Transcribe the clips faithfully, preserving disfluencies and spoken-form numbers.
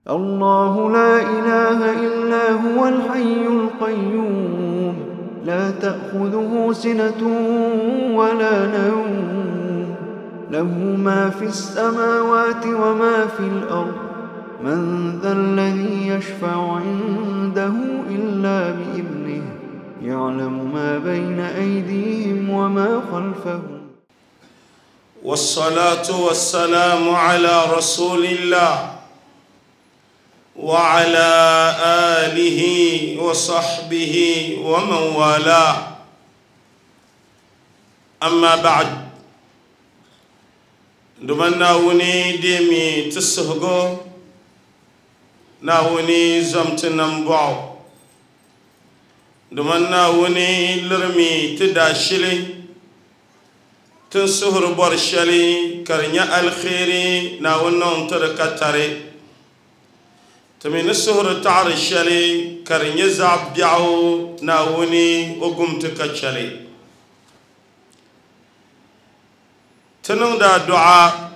الله لا إله إلا هو الحي القيوم لا تأخذه سنة ولا نوم له ما في السماوات وما في الأرض من ذا الذي يشفع عنده إلا بإذنه يعلم ما بين أيديهم وما خلفهم. والصلاة والسلام على رسول الله وعلى آله وصحبه ومن والاه. أما بعد، دمنا وني ديمي تسهغو ناوني زمتنم بوعو دمنا وني لرمي تداشلي تنسهر برشلي كرنيا الخيري ناونون تركتري تمين السهر تعرشلي كرنيا زعب بيعو ناوني وقمت كتشلي تنون دا دعاء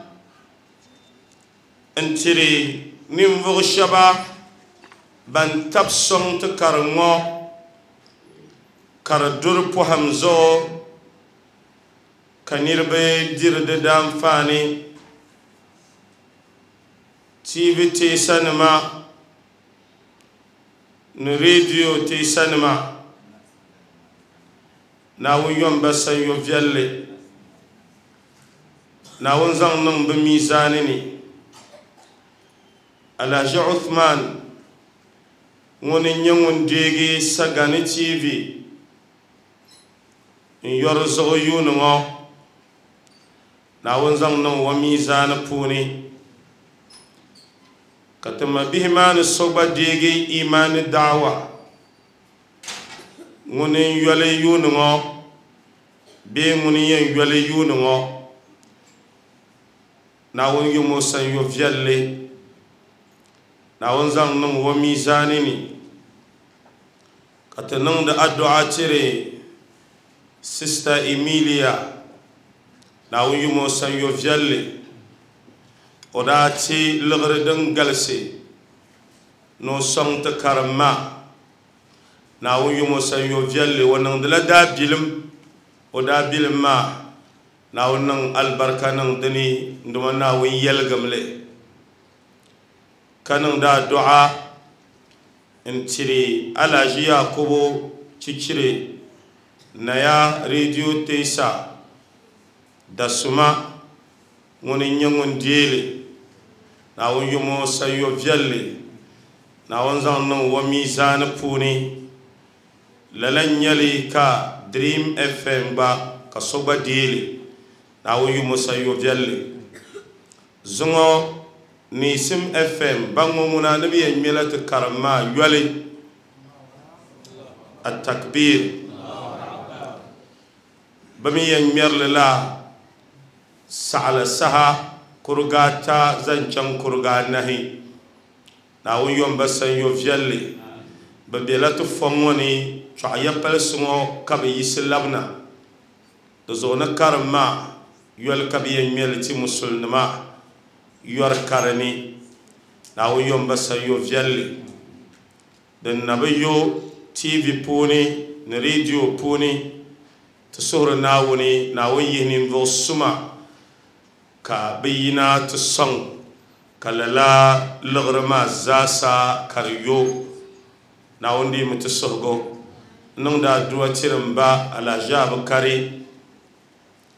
انتري نمفغ الشبا بان تبصن تكرنغو كردور بوهمزو كنيربي دير دام فاني تي في تي سنما نريديو تي سنما ناون يوم بس يوفيالي ناون زان بميزانني Alhaji Uthman ŋuni n-nyɛ ŋun deegi Sagani T V n-yɔri zuɣu yuuni ŋɔ Naawuni zaŋ niŋ o miizaani puuni ka ti ma bihi maa ni so gba deegi imaani daawa ŋuni n-yɔli yuuni ŋɔ bee ŋuni yɛn yɔli yuuni ŋɔ Naawuni yom o sanyo viɛlli Naawuni zaŋ niŋ o miizaani ni ka ti niŋdi addu'a tiri Sister Emilia Naawuni yom o sanyo viɛlli o daa ti liɣiri din galisi ni o sɔŋ ti karimma Naawuni yom o sanyo viɛlli o niŋdila daabilim o daabilim maa Naawuni niŋ alibarika niŋ dini n-dima Naawuni yɛligimli ka niŋdi addu'a n-tiri Alhaji Yakubu Chichiri Naya Radio Tesa Dasuma ŋuni n-nyɛ ŋun deeli Naawuni yom o sanyo viɛlli Naawuni zaŋ niŋ o miizaani puuni lala n-nyɛli ka Dream F M gba ka so gba deeli Naawuni yom o sanyo viɛlli zuŋɔ Nisim F M baŋ ŋɔ ŋuna ni bi yɛn ŋmɛla ti karim maa yɔli at-takbir bi mi yɛn ŋmɛrili la saɣala saha kuriga ata zaŋ chaŋ kuriga anahi Naawuni yom ba sanyo viɛlli bi bela ti fɔŋ ŋɔ ni chɔɣu ya palisi ŋɔ ka bi yisi labina di zuɣu ni karim maa yɔli ka bi yɛn ŋmɛli ti musulinima yɔri karini Naawuni yom ba sanyo viɛlli din na bi yo T V puuni ni radio puuni ti suhuri Naawuni Naawuni yihi ninvuɣu suma ka bi yina ti sɔŋ ka lala liɣiri maa zaasa ka di yo Naawuni deemi ti suhigu n niŋdi adua tiri n ba Alhaji Abukari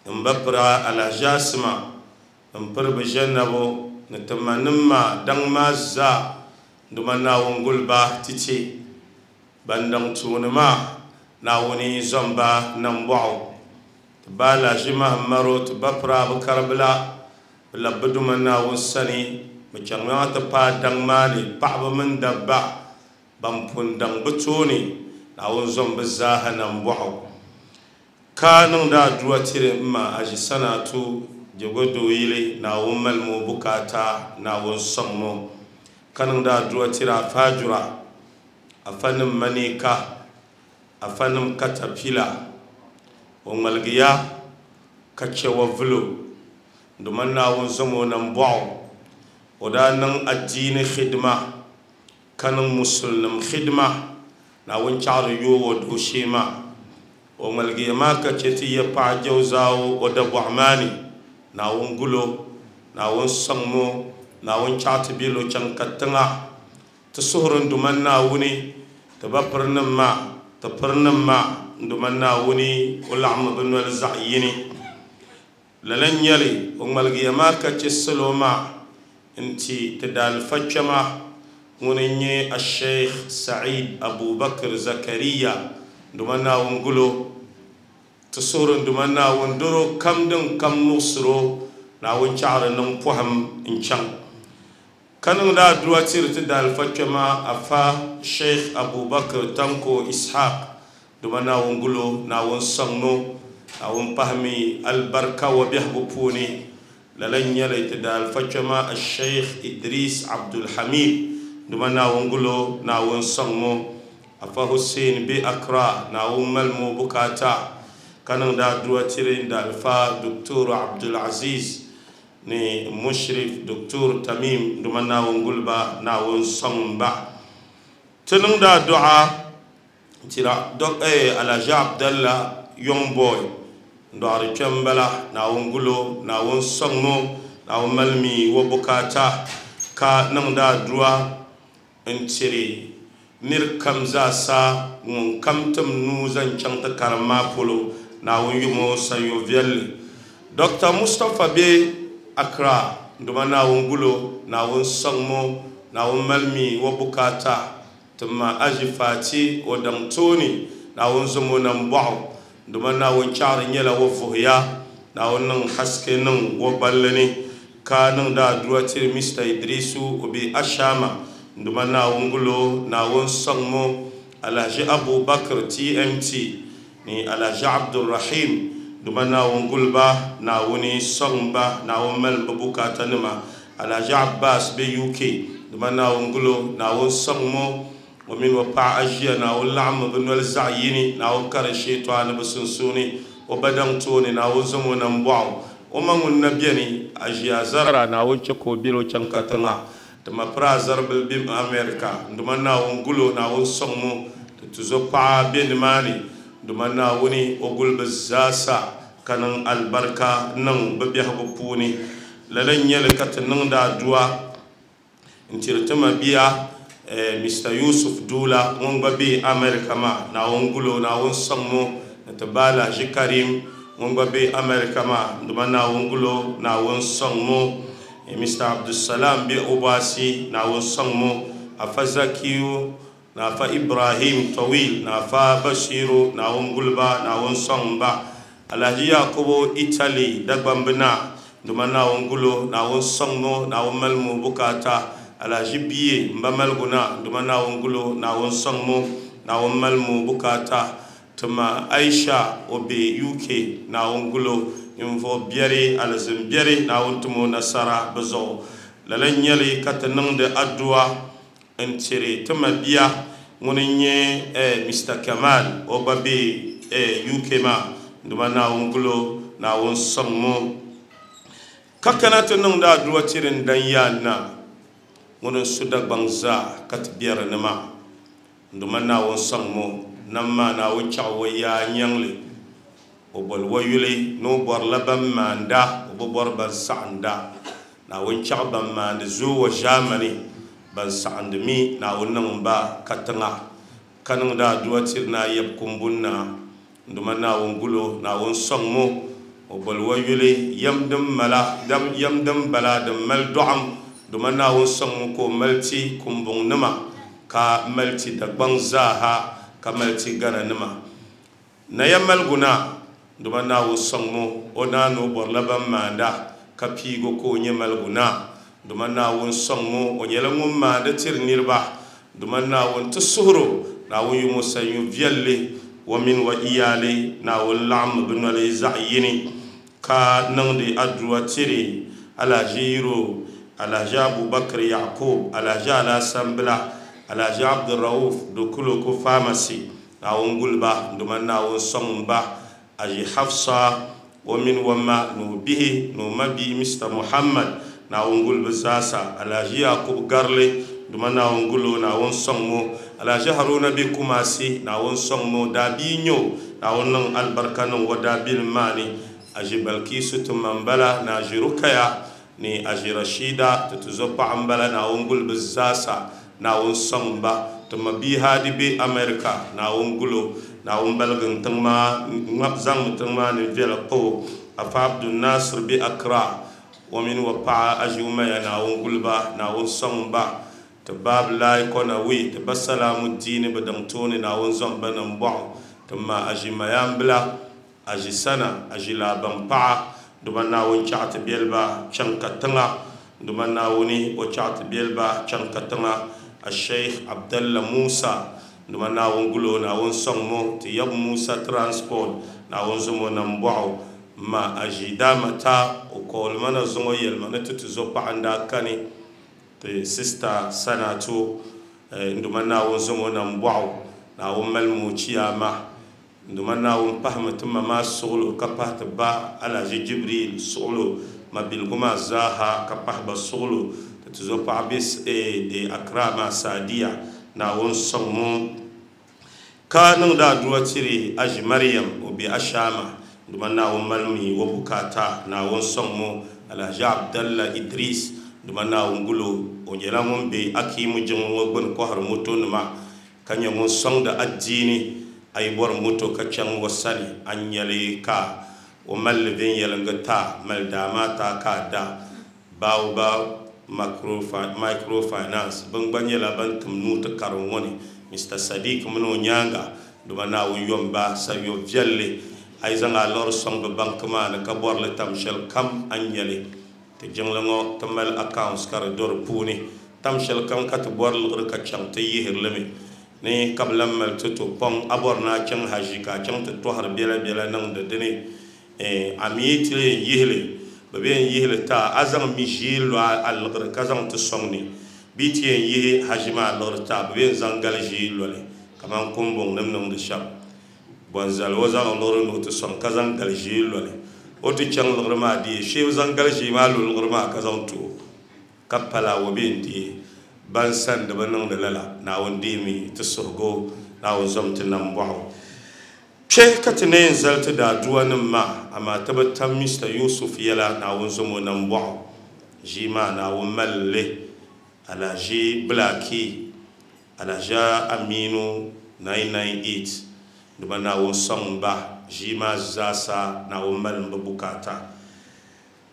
n ba pira Alhaji Asima n piri bi ʒɛnabo ni ti ma nim maa daŋ maa zaa duma Naawuni guliba titi ban daŋ tuuni maa Naawuni zɔmba nambɔɣu ti ba Alhaji Mahamaro ti ba pira Abukari bila bi labi bi duma Naawuni sani bi chaŋ maa ti paai daŋ maa ni paɣaba mini dabba ban pun daŋ bi tooni Naawuni zɔm bi zaaha nambɔɣu ka niŋdi adua tiri n ma Aji Sanatu Jogodooyili Naawuni malimi o bukaata Naawuni sɔŋ o ka niŋdi adua tiri Afaajura afanim manika afanim katapila o ŋmaligiya ka chɛ wa vulo duma Naawuni zɔm o nambɔɣu O daa niŋ adiini khidma ka niŋ musulnim khidma Naawuni chaɣari yoo o dooshee maa o ŋmaligiya maa ka che ti ya paɣa jawzaawo o dabɔɣu maa ni Naawuni gulo Naawuni sɔŋmo Naawuni chaɣ ti be lo chaŋ ka tiŋa ti suhuri n Duuma Naawuni ti ba pirinim maa ti pirinim maa n Duuma Naawuni o laɣimmi bɛ noli zaɣ yini lala n nyɛli o ŋmaligiya maa ka che salo maa n-ti ti daalifa kpɛma ŋuni n-nyɛ Asheikh Said Abubakar Zakariya Duuma Naawuni gulo ti suhuri n Duuma Naawuni doro kam din kam muɣisiro Naawuni chaɣari niŋ pɔhim n-chaŋ ka niŋdi aduwa tiri ti daalifa kpɛma Afa Sheikh Abubakar Tanko Ishaq Duuma Naawuni gulo Naawuni sɔŋno Naawuni pahimi albarka wa biɛhigu puuni lala n-nyɛli ti daalifa kpɛma Sheikh Idris Abdulhamid Duuma Naawuni gulo Naawuni sɔŋmo Afa Hussein be Accra Naawuni malimo bukaata ka niŋdi aduwa tiri n daalifa Doctor Abdulaziz ni Mushrif Doctor Tamim Duuma Naawuni guliba Naawuni sɔŋba ti niŋdi adu'a tira Alhaji Abdallah Young Boy n dɔɣiri kpɛmbala Naawuni gulo Naawuni sɔŋmo Naawuni malimi wa bukaata ka niŋdi adu'a n tiri nir kam zaasa ŋun kam tim nuu zaŋ chaŋ ti karim maa polo Naawuni yumo sanyo viɛlli Doctor Mustapha be Accra Duuma Naawuni gulo Naawuni sɔŋmo Naawuni malimi wa bukaata ti ma Aji Fati o daŋ tooni Naawuni zomo nam bɔɣu Duuma Naawuni chaɣari nyɛla wa vuhiya Naawuni niŋ haske niŋ wa balli ni ka niŋdi aduwa tiri Mister Idrisu o be Ashama Duuma Naawuni gulo Naawuni sɔŋmo Alhaji Abubakar T M T ni Alhaji Abdulrahim Duuma Naawuni guliba Naawuni sɔŋba Naawuni mali bɛ bukaata nima Alhaji Abbas be U K Duuma Naawuni gulo Naawuni sɔŋmo o mini o paɣa aʒiya Naawuni laɣimmi bɛ noli zaɣ yini Naawuni kari sheetɔɣa ni bɛ sunsuuni o ba daŋ tooni Naawuni zaŋ o nam bɔɣu o ma ŋun na beni aʒiya zara Naawuni che ka o beli o chaŋ ka tiŋa ti ma piri azaribili be America Duuma Naawuni gulo Naawuni sɔŋmo ti tuzo paɣa be nimaani Duuma Naawuni o guli bɛ zaasa ka niŋ alibarika niŋ bɛ biɛhigu puuni lala n-nyɛli ka ti niŋdi aduwa n-tiri ti ma bia Mister Yusuf Dula ŋun gba be America maa Naawuni gulo Naawuni sɔŋmo ni ti ba Alhaji Karim ŋun gba be America maa Duuma Naawuni gulo Naawuni sɔŋmo Mister Abdulsalam be Obasi Naawuni sɔŋmo Afa Zakiyu na Afa Ibrahim Tawil na Afa Bashiru Naawuni guliba Naawuni sɔŋba Alhaji Yakubu Italy Dagbambina Duuma Naawuni gulo Naawuni sɔŋmo Naawuni malimo bukaata Alhaji Biye mba maliguna Duuma Naawuni gulo Naawuni sɔŋmo Naawuni malimo bukaata tima Aisha o be U K Naawuni gulo ninvuɣ biɛri alizin biɛri Naawuni timo nasara bɛ zuɣu lala n-nyɛli ka ti niŋdi aduwa n-tiri tima bia ŋuni n-nyɛ Mister Kamal o gba be U K maa Duuma Naawuni gulo Naawuni sɔŋmo ka kana ti niŋdi aduwa tiri n dan yaa na ŋuni n-su Dagbaŋ zaa ka ti biɛri ni maa Duuma Naawuni sɔŋmo nam maa Naawuni chaɣ o yaa nyaŋli o boli wa yuli ni o bɔrila ban maanda o bi bɔri ban saɣinda Naawuni chaɣ ban maandi zooi wa ʒaamani ban saɣindi mi Naawuni niŋ ba katiŋa ka niŋdi aduwa tiri na yɛb kumbunna Duuma Naawuni gulo Naawuni sɔŋmo o boli wa yuli yɛm din mala yɛm din bala din mali dɔɣim Duuma Naawuni sɔŋmo ka o mali ti kumbuŋ nima ka mali ti Dagbaŋ zaaha ka mali ti Gana nima Naya maliguna Duuma Naawuni sɔŋmo o naa ni o bɔrila ban maanda ka piigo ka o nyɛ maliguna Duuma Naawuni sɔŋmo o nyɛla ŋun maandi tiri niriba Duuma Naawuni ti suhuro Naawuni yumo sanyo viɛlli wa mini wa iyaali Naawuni laɣimmi bɛ noli zaɣ yini ka niŋdi aduwa tiri Alhaji Yiro Alhaji Abubakar Yakub Alhaji Alhassan Bila Alhaji Abdulrauf Dukuloko Pharmacy Naawuni guliba Duuma Naawuni sɔŋba Aji Hafsa o mini o ma ni o bihi ni o ma bia Mister Muhammad Naawuni guli bɛ zaasa Alhaji Yakubu Garli duma Naawuni gulo Naawuni sɔŋ Alhaji Haruna be Kumasi Naawuni sɔŋ daabia nyɛ o Naawuni niŋ alibarika niŋ o daabilim maa ni Aji Balkisu ti ma m-bala ni Aji Rukaya ni Aji Rashida ti tuzo paɣa m-bala Naawuni guli bɛ zaasa Naawuni sɔŋ ba ti ma bia Hadi be America Naawuni gulo Naawuni baligi tiŋ maa zaŋmi tiŋ maa ni viɛla pa o Afa Abdul Nasir be Accra o mini o paɣa Aji Umaya Naawuni guli ba Naawuni sɔŋ ba ti baab Lai Konawi ti ba Salamu Diini bi diŋ tooni Naawuni zaŋ ba niŋ bɔɣu ti ma Aji Mayambila Aji Sana Aji Labaŋ paɣa duma Naawuni chaɣ ti biɛliba chaŋ katiŋa duma Naawuni o chaɣ ti biɛliba chaŋ katiŋa Sheikh Abdallah Musa duma Naawuni gulo Naawuni sɔŋ mo ti yab Musa Transport Naawuni zaŋ o niŋ bɔɣu ma Aji Damata o kooli mana zuŋɔ yɛlima ni ti ti zo paɣa n-daa kani ti sista Sanatu nduma Naawuni zaŋ o niŋ bɔɣu Naawuni mali mo chiyaama nduma Naawuni pahimi ti ma maa suɣulo ka pahi ti ba Alhaji Jibril suɣulo ma biligu maa zaaha ka pahi ba suɣulo ti ti zo paɣa be de Accra maa Sadiya Naawuni sɔŋ mo ka niŋdi aduwa tiri Aji Mariam o be Ashama nduma Naawuni mali mi o bukata Naawuni sɔŋ mo Alhaji Abdallah Idris nduma Naawuni gulo o nyɛla ŋun be Akimu jiŋli ŋɔ gbuni kɔhiri motonima ka nyɛ ŋun sɔŋdi adiini a yi bɔri moto ka chaŋ o sani a nyɛli ka o mali li viɛnyɛliŋga ta mali daa maa ta ka a da Baobab Microfinance bin gba nyɛla ban tim nuu ti karim ŋɔ ni Mister Sadiq mini o nyaanga duma Naawuni yom ba sayo viɛlli a yi zaŋ a lɔri sɔŋ bi banki maa ni ka bɔri li tam shɛli kam a nyɛli ti jiŋli ŋɔ ti mali accounts ka di do di puuni tam shɛli kam ka ti bɔri liɣiri ka chaŋ ti yihiri li mi ni ka bi lan mali ti to pɔŋ a bɔri ni a chaŋ haji ka a chaŋ ti tɔhiri biɛla biɛla niŋdi dini a mi ti yɛn yihili bi bɛ yɛn yihili ta a zaŋ mi ʒii lo a liɣiri ka zaŋ ti sɔŋ ni bee ti yɛn yihi haji maa liɣiri ta bi bɛ yɛn zaŋ gali ʒii loli kamani kumbuŋ nim niŋdi shɛm bɔnzali o zaŋ liɣiri ni o ti sɔŋ ka zaŋ gali ʒii loli o ti chaŋ liɣiri maa deei shee zaŋ gali ʒii maa lo liɣiri maa ka zaŋ ti o ka pala o bɛ yɛn deei ban sani di bi niŋdi lala Naawuni deemi ti suhigu Naawuni zom ti nam bɔɣu kpe ka ti na yɛn zali ti daaduwa nim maa amaa ti bi tam Mister Yusuf yɛla Naawuni zom o nam bɔɣu ʒii maa Naawuni mali li Alhaji Blaki Alhaji Aminu nine nine eight duma Naawuni sɔŋ ba ʒii maa zaasa Naawuni mali bi bukata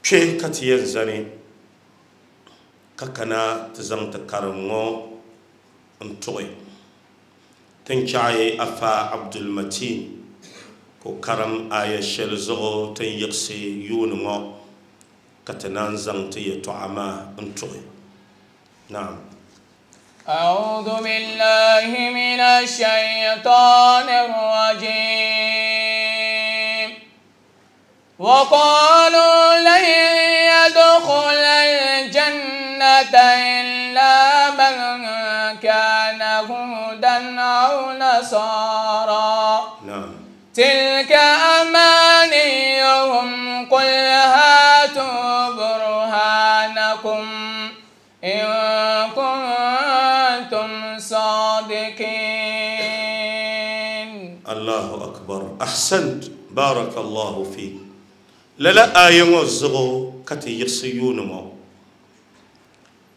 kpe ka ti yɛn zani ka kana ti zaŋ ti karim ŋɔ n tuɣi tin chaɣi Afa Abdul Matin ko karim aya shɛli zuɣu tin yiɣisi yuuni ŋɔ ka ti naan zaŋ ti yɛltɔɣa maa n tuɣi. Naam. أعوذ بالله من الشيطان الرجيم وقالوا لن يدخل الجنة إلا من كان هودا أو نصارى نعم تلك أمانيهم قل هاتوا برهانكم إن كنتم صادقين. الله أكبر. أحسنت، بارك الله فيك. للا آية وزغو كتي يغسيون مو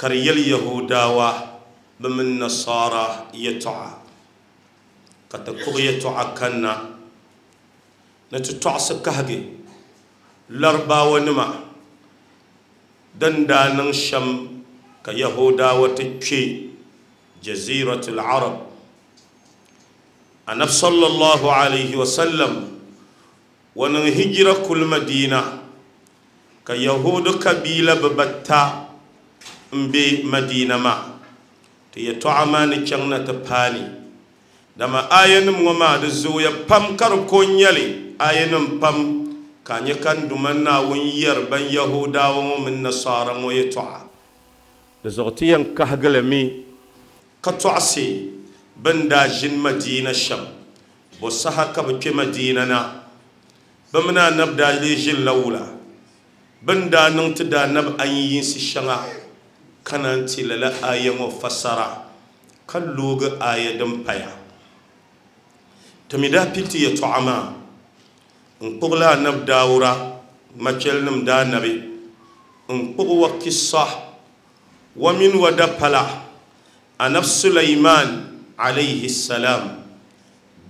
كريل يهودا بمن نصارى يتعى كتكوغ يتعى كنا نتتعس كهجي لربا ونما دندان شم كيهودا وتشي جزيرة العرب. النبي صلى الله عليه وسلم ونهجر كل مدينة كيهود كبيلة ببتا بي مدينة ما تيتعمان چنگنا تپاني دما آينم وما دزويا پم كركون يلي آينم پم كان يكن دمنا ونير بن يهودا ومن نصارى ويتعا دزغتيا كهغلمي كتعسي بن داجن مدينة شم بوسها كبك مدينة نا بمنا نبدا ليجن لولا Bin daa niŋ ti daa nabi an yinsi shɛŋa kana n ti lala aya ŋɔ fasara ka loogi aya din paya ti mi daa pili ti yɛltɔɣa maa n kpuɣila anabi Daawura machɛlinima daa nabi n kpuɣi wa kisa wa mini wa dapala anabi Sulaiman alayhi salam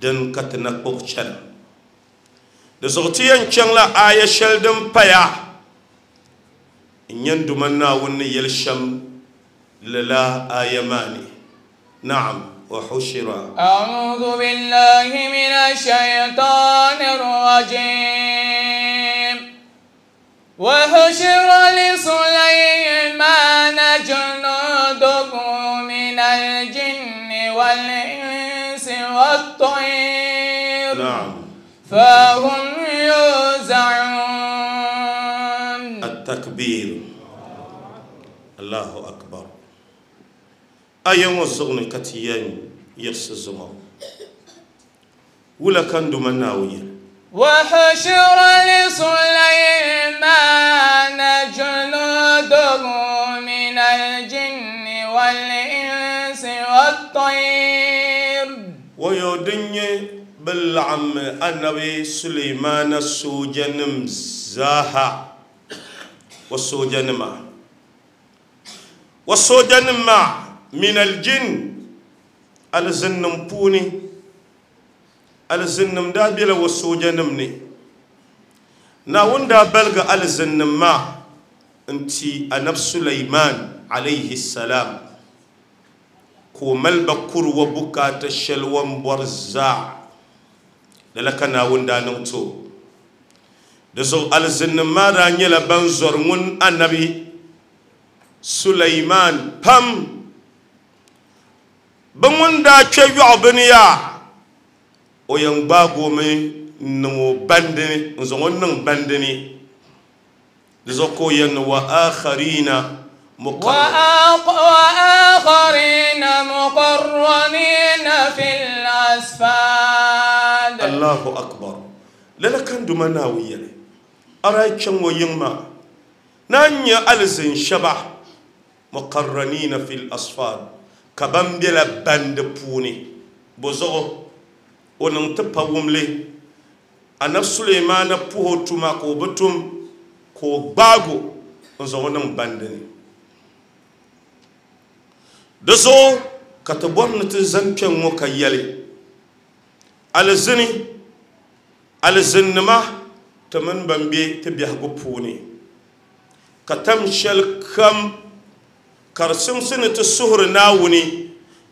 din ka ti na kpuɣi chana di zuɣu ti yɛn chaŋla aya shɛli din paya n yɛn duma Naawuni ni yɛli shɛm lala aya maa ni. Naam. Wa hushira. أعوذ بالله من الشيطان الرجيم. وحشر لسليمان جنوده من الجن والإنس والطير. نعم. فهم يوزعون. التكبير. الله أكبر. Aya ŋɔ zuɣu ni ka ti yɛn yiɣisi zuŋɔ wula ka n duma Naawuni yɛli. وحشر لسليمان جنوده من الجن والإنس والطير. Wayo din nyɛ bɛ laɣim anabi Suleimana soojanim zaaha wa soojanima wa soojanim maa min aljin alzinnim puuni alzinnim daa bela wa soojanim ni Naawuni daa baligi alzinnim maa n-ti anabi Sulaiman alayhi salam ka o mali ba kuri wa bukaata shɛli wa n-bɔri zaa lala ka Naawuni daa niŋ ti o di zuɣu alzinnim maa daa nyɛla ban zɔri ŋun anabi Sulaiman pam bɛ ŋun daa kpe yɔɣu bini yaa o yɛn gbaagi o mi n-niŋ o bandini n zaŋ o niŋ bandini di zuɣu ka o yɛn ni wa akharina وآخرين مقرنين في الأسفاد. Allahu akbar. Lala kan duma Naawuni yɛli a daa chaŋ o yiŋ maa na n-nyɛ alizin shɛba muqarranina fi l-asfad ka ban bela bandi puuni bo zuɣu o niŋ ti pa wumli anabi Suleimana puhi o tuma ka o bi tum ka o gbaago n zaŋ o niŋ bandi ni di zuɣu ka ti bɔri ni ti zani kpɛŋ ŋɔ ka yɛli alizini alizinnima ti mini ban be ti biɛhigu puuni ka tam shɛli kam ka di simsi ni ti suhuri Naawuni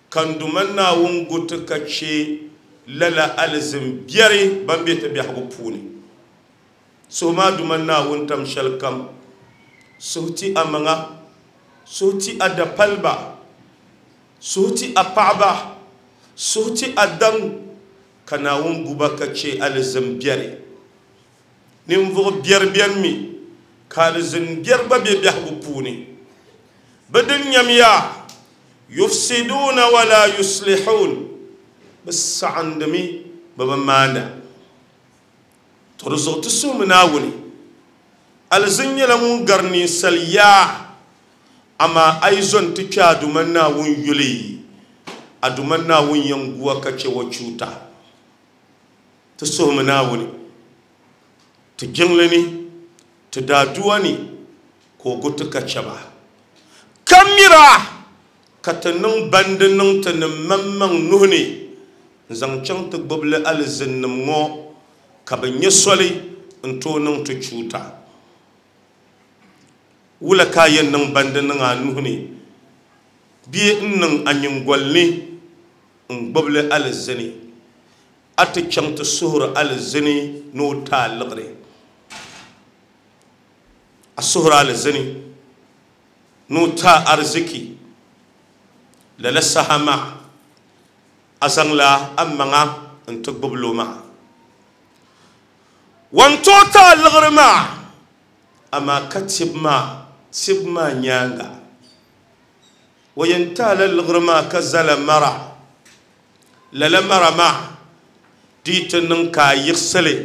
ka n duma Naawuni gu ti ka che lala alizin biɛri ban be ti biɛhigu puuni suhu maa duma Naawuni tam shɛli kam suhu ti a maŋa suhu ti a dapaliba suhu ti a paɣaba suhu ti a daŋ ka Naawuni guba ka che alizin biɛri ninvuɣu biɛri bɛni mi ka alizin biɛri gba be biɛhigu puuni bɛ din nyamiya yufsiduuna wala yuslihun bɛ saɣindimi bɛ bi maanda to di zuɣu ti suhimi Naawuni alizin nyɛla ŋun gari ninsal yaa amaa a yi zo n-ti kpe a duma Naawuni yuli a duma Naawuni yɛn guwa ka che wa chuuta ti suhimi Naawuni ti jiŋli ni ti daaduwa ni ka o gu ti ka che ba ka mira ka ti niŋ bandi niŋ ti ni maŋmaŋ nuhi ni n zaŋ chaŋ ti gbubili alizinnim ŋɔ ka bɛ nyɛ soli n tooi niŋ ti chuuta wula ka a yɛn niŋ bandi niŋ a nuhi ni bee n niŋ a nyingoli ni n gbubili alizini a ti chaŋ ti suhuri alizini ni o ti a liɣiri a suhuri alizini ni o ti a ariziki lala saha maa a zaŋla a maŋa n ti gbubili o maa wan tooi ti a liɣiri maa amaa ka tibu maa tibu maa nyaaŋa o yɛn ti a la liɣiri maa ka zala mara lala mara maa di ti niŋ ka a yiɣisili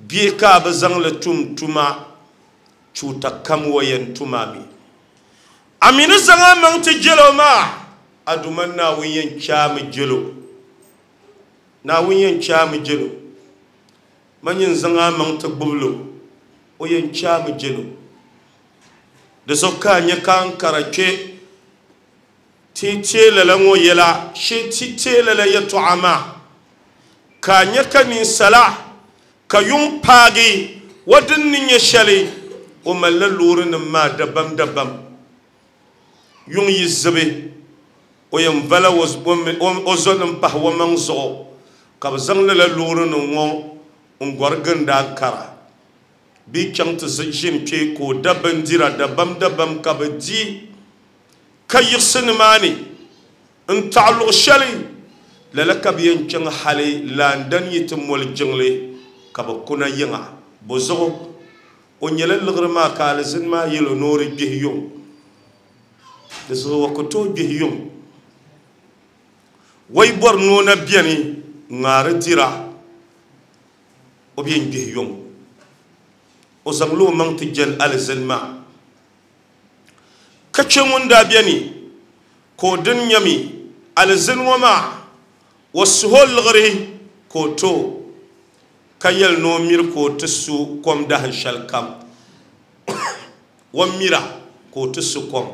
bee ka a bi zaŋli tum tuma Chuuta kam wa yɛn tumami amini zaŋ a maŋ ti jelo maa aduma Naawuni yɛn chaami jelo Naawuni yɛn chaami jelo man yɛn zaŋ a maŋ ti gbubilo o yɛn chaami jelo di zuɣu ka a nyɛ ka n kara kpe ti teei lala ŋɔ yɛla shee ti teei lala yɛltɔɣa maa ka a nyɛ ka ninsala ka yuŋ paagi wa din ni nyɛ shɛli o malila loorinima maa dabam dabam yuŋ yi zibi o yɛn vala o zonim pahi o maŋ zuɣu ka bi zaŋ lala loorinima ŋɔ n gɔri gindi Ankara bi chaŋ ti ʒini kpe ka o da bindira dabam dabam ka bi di ka yiɣisi nimaani n taɣi luɣu shɛli lala ka bi yɛn chaŋ hali Landan yi ti moli jiŋli ka bi kuna yiŋa bo zuɣu o nyɛla liɣiri maa ka alizini maa yɛlo ni o di gbihi yuŋ di zuɣu o ku tooi gbihi yuŋ wai bɔri ni o na bɛni ŋmaari dira o bi yɛn gbihi yuŋ o zaŋla o maŋ ti jɛli alizini maa ka che ŋun daa bɛni ka o din nyɛmi alizini ŋɔ maa o suhu liɣiri ka o to ka yɛli ni o miri ka o ti su kom dahin shɛli kam o mira ka o ti su kom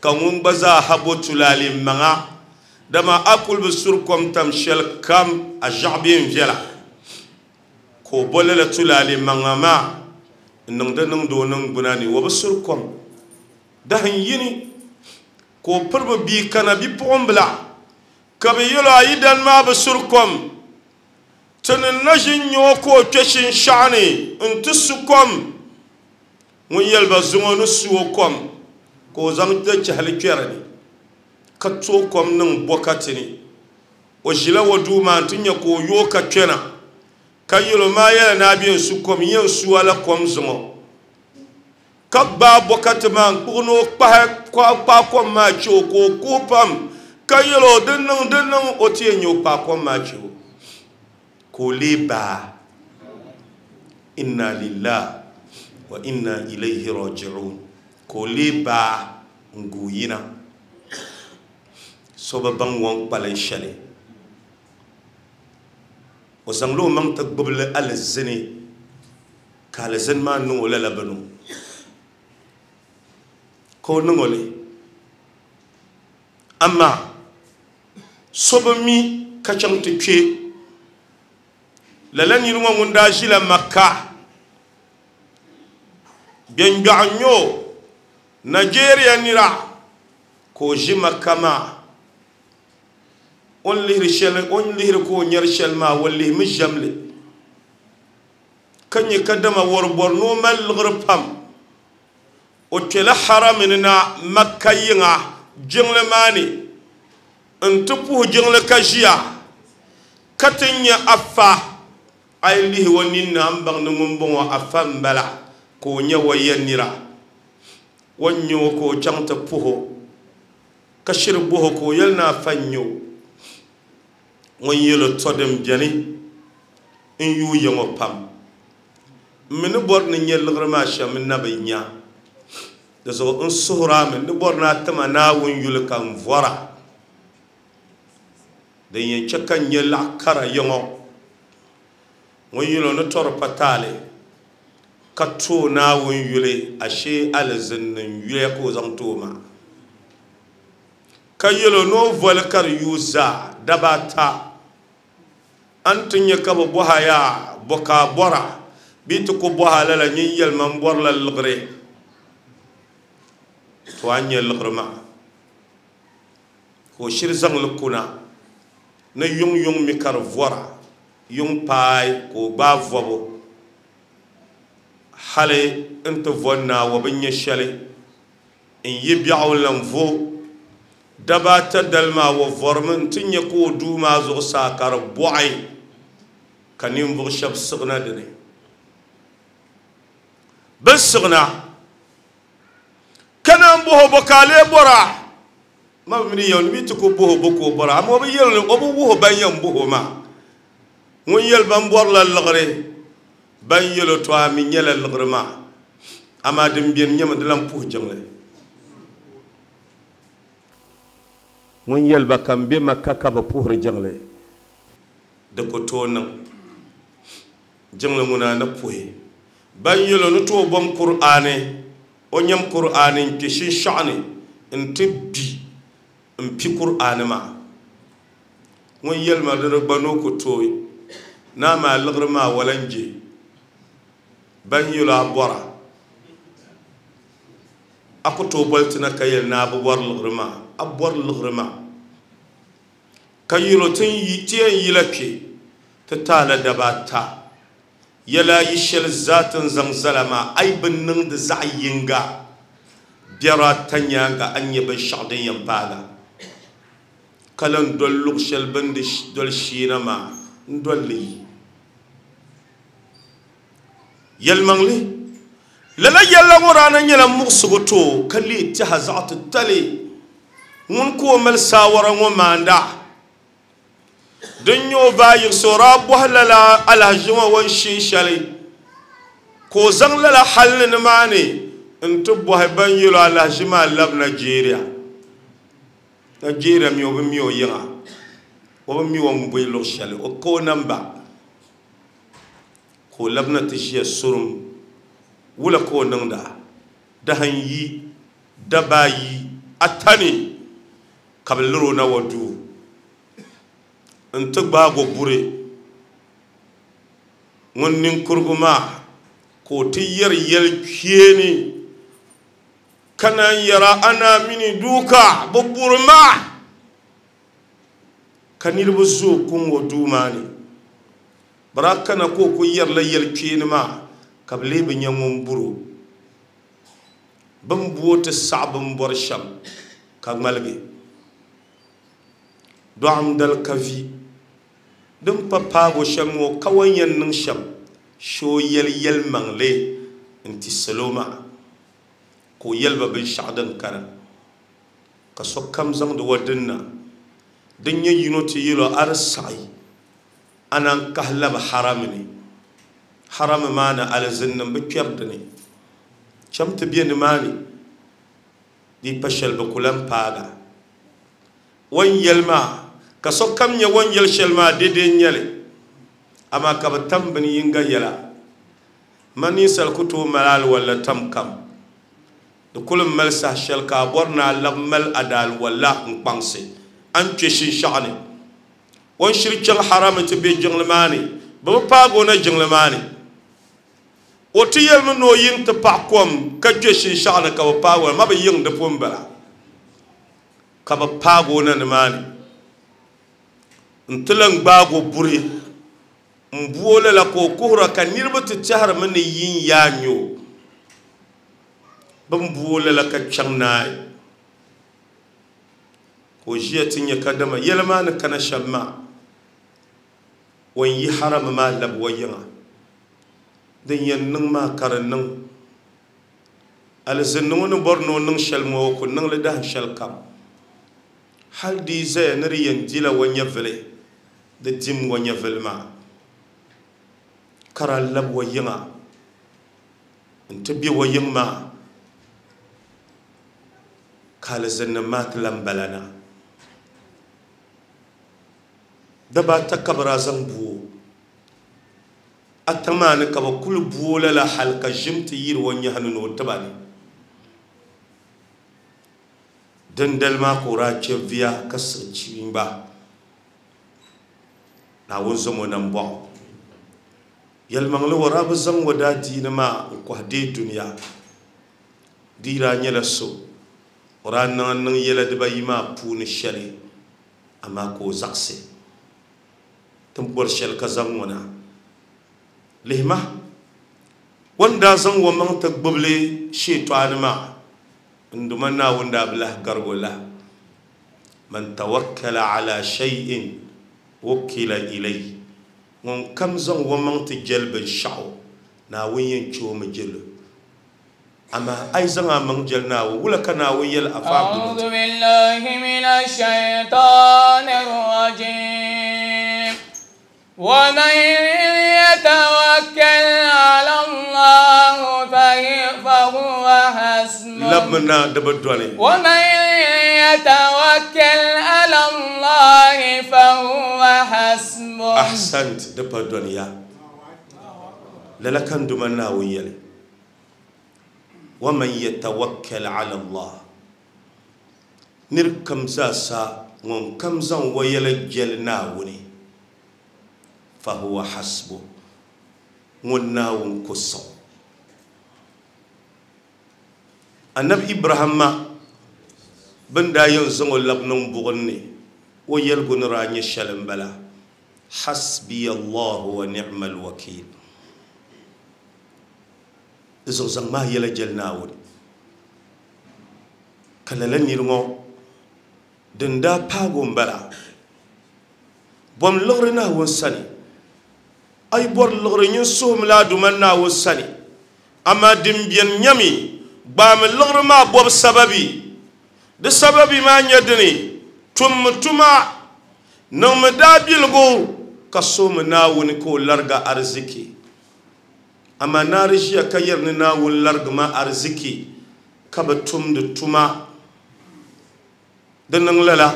ka ŋun gba zaa ha bo tulaale maŋa dama a kuli bi suri kom tam shɛli kam a ʒiɛɣu bee n viɛla ka o bo lala tulaale maŋa maa n niŋdi niŋdi o niŋgbuna ni o bi suri kom dahin yini ka o piri bi bia kana bipuɣimbila ka bi yɛlo a yidan maa bi suri kom ti ni na ʒin nyɛ o ka o kpe shinshaɣu ni n ti su kom ŋun yɛli ba zuŋɔ ni su o kom ka o zaŋ dachahali kpɛri ni ka tooi kom niŋ bɔkati ni o ʒila o duu maa n ti nyɛ ka o yooi ka kpɛna ka yɛlo maa yɛla ni a bɛ n su kom yɛn su a la kom zuŋɔ ka gbaai bɔkati maa n kpuɣi ni o kpahi kpaai kom maa chɛ o ka o kuhi pam ka yɛlo din niŋ din niŋ o ti yɛn nyɛ o kpaai kom maa chɛ o ka o lee baa inna lillahi wa inna ilayhi raji'un ka o lee baa n guui yina so bi baŋ o ni kpalim shɛli o zaŋla o maŋ ti gbubili alizini ka alizini maa niŋ o lala bini ka o niŋ o li amaa so bi mi ka chaŋ ti kpe lala niri ŋɔ ŋun daa ʒila Makka Bɛngbɛɣu n nyɛ o Nigeria nira ka o ʒi Makka maa o ni lihiri shɛli o ni lihiri ka o nyɛri shɛli maa o lihimi ʒɛmli ka nyɛ kadama wari bɔri ni o mali liɣiri pam o kpɛla harami ni na Makka yiŋa jiŋli maa ni n ti puhi jiŋli ka ʒiya ka ti nyɛ afa a yi lihi o ninni a ni baŋ ni ŋun bɔŋɔ afa n bala ka o nyɛ o ya nira o ni nyɛ o ka o chaŋ ti puhi o ka shiri boho ka o yɛli ni afa n nyɛ o ŋun yɛlo tɔ din bɛni n yuui ya ŋɔ pam n mi ni bɔri ni nyɛ liɣiri maa shɛm n na bi nya di zuɣu n suhuri mi ni bɔri ni a tima Naawuni yuli ka n vɔra din yɛn chɛ ka n nyɛ laɣa kara ya ŋɔ ŋun yɛlo ni tɔri pa taali ka tooi Naawuni yuli ashee alizini n yuya ka o zaŋ tooi maa ka yɛlo ni o voli ka di yuui zaa daba ata a ni ti nyɛ ka bi bɔha yaa bɔ ka a bɔra bee ti ku bɔha lala nyin yɛlima n bɔrila liɣiri to a ni nyɛ liɣiri maa ka o shiri zaŋli kuna ni yuŋ yuŋ mi ka di vɔra yuŋ paai ka o gbaai vɔbu hali n ti vo naawa bi nyɛ shɛli n yi biɛɣu n lan vo daba ata dali maa o vɔrimi n ti nyɛ ka o duu maa zuɣusaa ka di bɔɣi ka ninvuɣu shɛba siɣina dini bin siɣina ka naan boho bo ka a lee bɔra ma bi mini yɛli mi ti ku boho bo ka o bɔra amaa o bi yɛli o bi wuhi ban yɛn boho maa ŋun yɛli ban bɔrila liɣiri Ban yɛlo to a mi nyɛla liɣiri maa amaa din beni nyɛmi di lan puhi jiŋli ŋun yɛli ba ka n be Makka ka bi puhiri jiŋli di ku tooi niŋ jiŋli ŋuna ni puhi ban yɛlo ni tooi bom Kur'aani o nyɛm Kur'aani n kpe shinshaɣu ni n ti bi n pi Kur'aani maa ŋun yɛli ma di gba ni o ku tooi naa maa liɣiri maa wala n je ban yɛlo a bɔra a ku tooi boli ti na ka yɛli ni a bi bɔri liɣiri maa a bɔri liɣiri maa ka yɛlo ti yɛn yila kpe ti taala daba ata yɛla yi shɛli zaa ti ni zaŋ zala maa a yi bi niŋdi zaɣ yinga biɛri ata nyaanga a ni nyɛ binshaɣu din yɛn paaga ka lan doli luɣu shɛli bini di doli sheena maa n doli li yi yɛlimaŋli lala yɛlla ŋɔ daa na nyɛla muɣusigu too ka leei tɛha zaɣ titali ŋun ka o mali saawara ŋɔ maanda din nyɛ o baa yiɣisi o daa bɔhi lala alahaʒi ŋɔ o ni shee shɛli ka o zaŋ lala hali ni nimaani n ti bɔhi ban yɛlo alahaʒi maa labi Nigeria Nigeria mi o bi mi o yiŋa o bi mi o ni bɔi luɣu shɛli o ka o namba ka o labina ti ʒiya surum wula ka o niŋda dahin yi daba ayi ata ni ka bi liri o na wa duu n ti gbaago buri ŋun ninkurigu maa ka o ti yɛri yɛli kpeeni ka naan yɛra ana mini duuka bi buri maa ka niriba zooi kuŋ o duu maa ni bara kana ka o ku yɛrila yɛli kpeeni maa ka bi lee bi nyɛ ŋun buri o bin bu o ti saɣi bin bɔri shɛm ka ŋmaligi dɔɣim dali ka vi din pa paago shɛm ŋɔ ka o yɛn niŋ shɛm shee o yɛli yɛlimaŋli n ti salo maa ka o yɛli ba binshaɣu din kana ka sokam zaŋdi wa dinna din nyɛ yino ti yɛlo a di saɣi a naan kahi labi harami ni harami maa ni alizinnim bi kpɛri dini cham ti be nimaani di pa shɛli bi ku lan paaga o ni yɛli maa ka sokam nyɛ o ni yɛli shɛli maa daidai n nyɛli amaa ka bi tam bini yinga yɛla ma ninsal ku tooi mali aliwalla tam kam di kuli mali saha shɛli ka a bɔri ni a labi mali a daaliwalla n kpaŋsi a ni kpe shinshaɣu ni o ni shiri chaŋ harami ti be jiŋli maa ni bi bi paagi o na jiŋli maa ni o ti yɛlimi ni o yiŋ ti paɣa kom ka kpe shinshaɣu ni ka bi paagi o na ma bi yiŋ di pun bala ka bi paagi o na nimaani n ti lan gbaagi o buri n bu o lala ka o kuhura ka niriba ti tɛhirimi ni yin yaa nyɛ o bin bu o lala ka chaŋ naai ka o ʒiya ti nyɛ kadama yɛli maa ni kana shɛm maa o ni yi harami maa labi o yiŋa din yɛn niŋ maa ka di niŋ alizinni ŋɔ ni bɔri ni o niŋ shɛli ŋɔ o ku niŋli dahin shɛli kam hali di yi zaya ni di yɛn dila o nyɛvili di dim o nyɛvili maa ka daa labi o yiŋa n ti be o yiŋ maa ka alizinnim maa ti lan bala na daba ata ka bi daa zaŋ bu o ata maa ni ka bi kuli bu o lala hali ka ʒim ti yiri o nyahi ni ni o tiba ni dindali maa ka o daa chɛ viya ka siɣi chiimba Naawuni zaŋ o nambɔɣu yɛlimaŋli o daa bi zaŋ o daa diini maa n kɔhi deei dunia di daa nyɛla so o daa niŋ niŋ yɛla dibayi maa puuni shɛli amaa ka o zaɣisi ti bɔri shɛli ka zaŋ ŋɔ na lihima o ni daa zaŋ o maŋ ti gbubili sheetɔɣani maa n duma Naawuni daa bi lahi garigi o lahi man tawakkala ala shay'in wukila ilayhi ŋun kam zaŋ o maŋ ti jɛli binshaɣu Naawuni yɛn chɛ o mi jɛli amaa a yi zaŋ a maŋ jɛli Naawuni wula ka Naawuni yɛli afa أعوذ بالله من الشيطان الرجيم ومن يتوكل Labmina di bi dɔni. ومن يتوكل على الله فهو حسبه. Ahsant, di pa dɔniya. Lala kan duma Naawuni yɛli. ومن يتوكل على الله. Nir kam zaasa ŋun kam zaŋ o yɛla jɛli Naawuni fahuwa hasbu, ŋun Naawuni ku sɔŋ. Annabi Ibrahima bin daa yɛn zaŋ o labi niŋ buɣim ni o yɛligu ni daa nyɛ shɛli n bala hasbiya Allahu wa ni'mal wakil. Di zuɣu zaŋ maa yɛla jɛli Naawuni. Ka lala niri ŋɔ din daa paagi o n bala bɔm liɣiri Naawuni sani, a yi bɔri liɣiri nyin suhumi la Aduma Naawuni sani, amaa din beni nyami gbaami liɣiri maa bɔbu sababi. Di sababi maa nyɛ dini tummi tuma niŋmi daabiligu ka suhumi Naawuni ka o larigi ariziki. Amaa naari ʒiya ka yɛri ni Naawuni larigi ma ariziki ka bi tumdi tuma. Di niŋ lala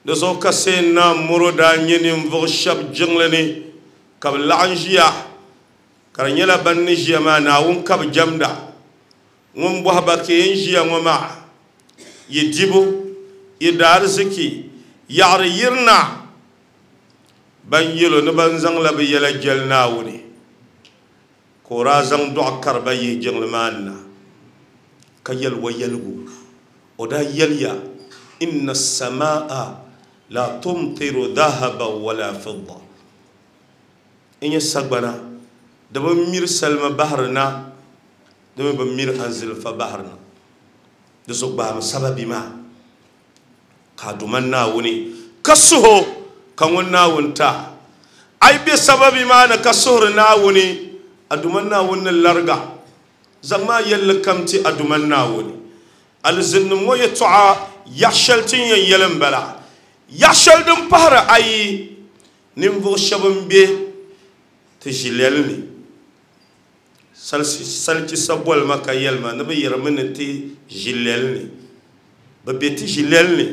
di zuɣu ka sai na muro daa nyɛ ninvuɣu shɛba jiŋli ni ka bi laɣim ʒiya ka di nyɛla ban ni ʒiya maa Naawuni ka bi jɛmda. Ŋun bɔhi ba ka yɛn ʒiya ŋɔ maa yi dibu yi daariziki yaɣari yirina ban yɛlo ni ban zaŋla bi yɛla jɛli Naawuni ka o daa zaŋ dɔɣu kari ba yihi jiŋli maa ni na ka yɛli wa yɛligu. O daa yɛliya inna as-samaa la tumtiru dhahaban wala fidda. N nyɛ sagbana di bi miri salima bahiri na, di mi bi miri anzilfa bahiri na. Di zuɣu gbaami sababi maa ka Aduma Naawuni ka suho ka ŋun Naawuni ta. A yi be sababi maa ni ka suhuri Naawuni, Aduma Naawuni ni lariga. Zaŋ maa yɛlli kam ti Aduma Naawuni. Alizinnim ŋɔ yɛtɔɣa yaɣ shɛli ti ni yɛn yɛli n bala. Yaɣ shɛli din pahiri ayi, ninvuɣ shɛba n be ti ʒilɛli ni. Salichi saboli ma ka yɛli ma ni bi yɛrimi ni ti ʒilɛli ni. Bi be ti ʒilɛli ni,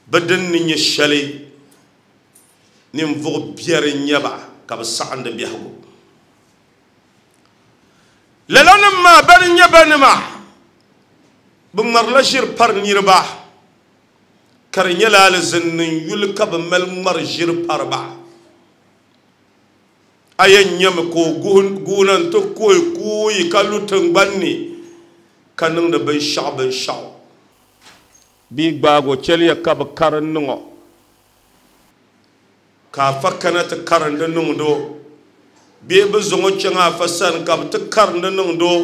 bi din ni nyɛ shɛli ninvuɣ biɛri n nyɛ ba ka bi saɣindi biɛhigu. Lala nim maa bani n nyɛ banima bi ŋmarila ʒiri pari niriba ka di nyɛla alizinnim yuli ka bi mali ŋmari ʒiri pari ba. A yɛn nyɛmi ka o guuna n-ti kuhi kuuyi ka lu tiŋgbani ni ka niŋdi binshɛɣu binshɛɣu. Bia gbaagi o chɛliya ka bi karim niŋ o ka afa kana ti karindi niŋdi o bee bi zaŋ o chaŋ afa sani ka bi ti karindi niŋdi o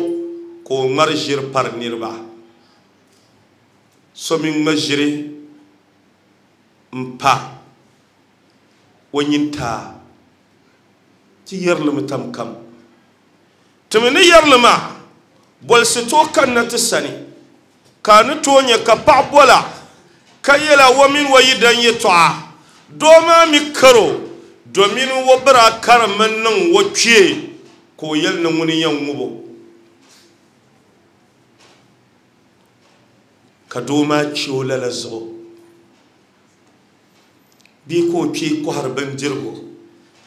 ka o ŋmari ʒiri pari niriba. So mi ŋma ʒiri n pa o nyintaa ti yɛrilimi tam kam. Ti mi ni yɛrili maa bolisi tooi kanna ti sani ka a ni tooi nyɛ ka paɣa bola ka yɛla o mini o yidan yɛtɔɣa. Doo maa mi karo domin o bira karimi niŋ o kpee ka o yɛli ni ŋuni yɛn ŋubo. Ka doo maa che o lala zuɣu bee ka o kpee kɔhiri bindirigu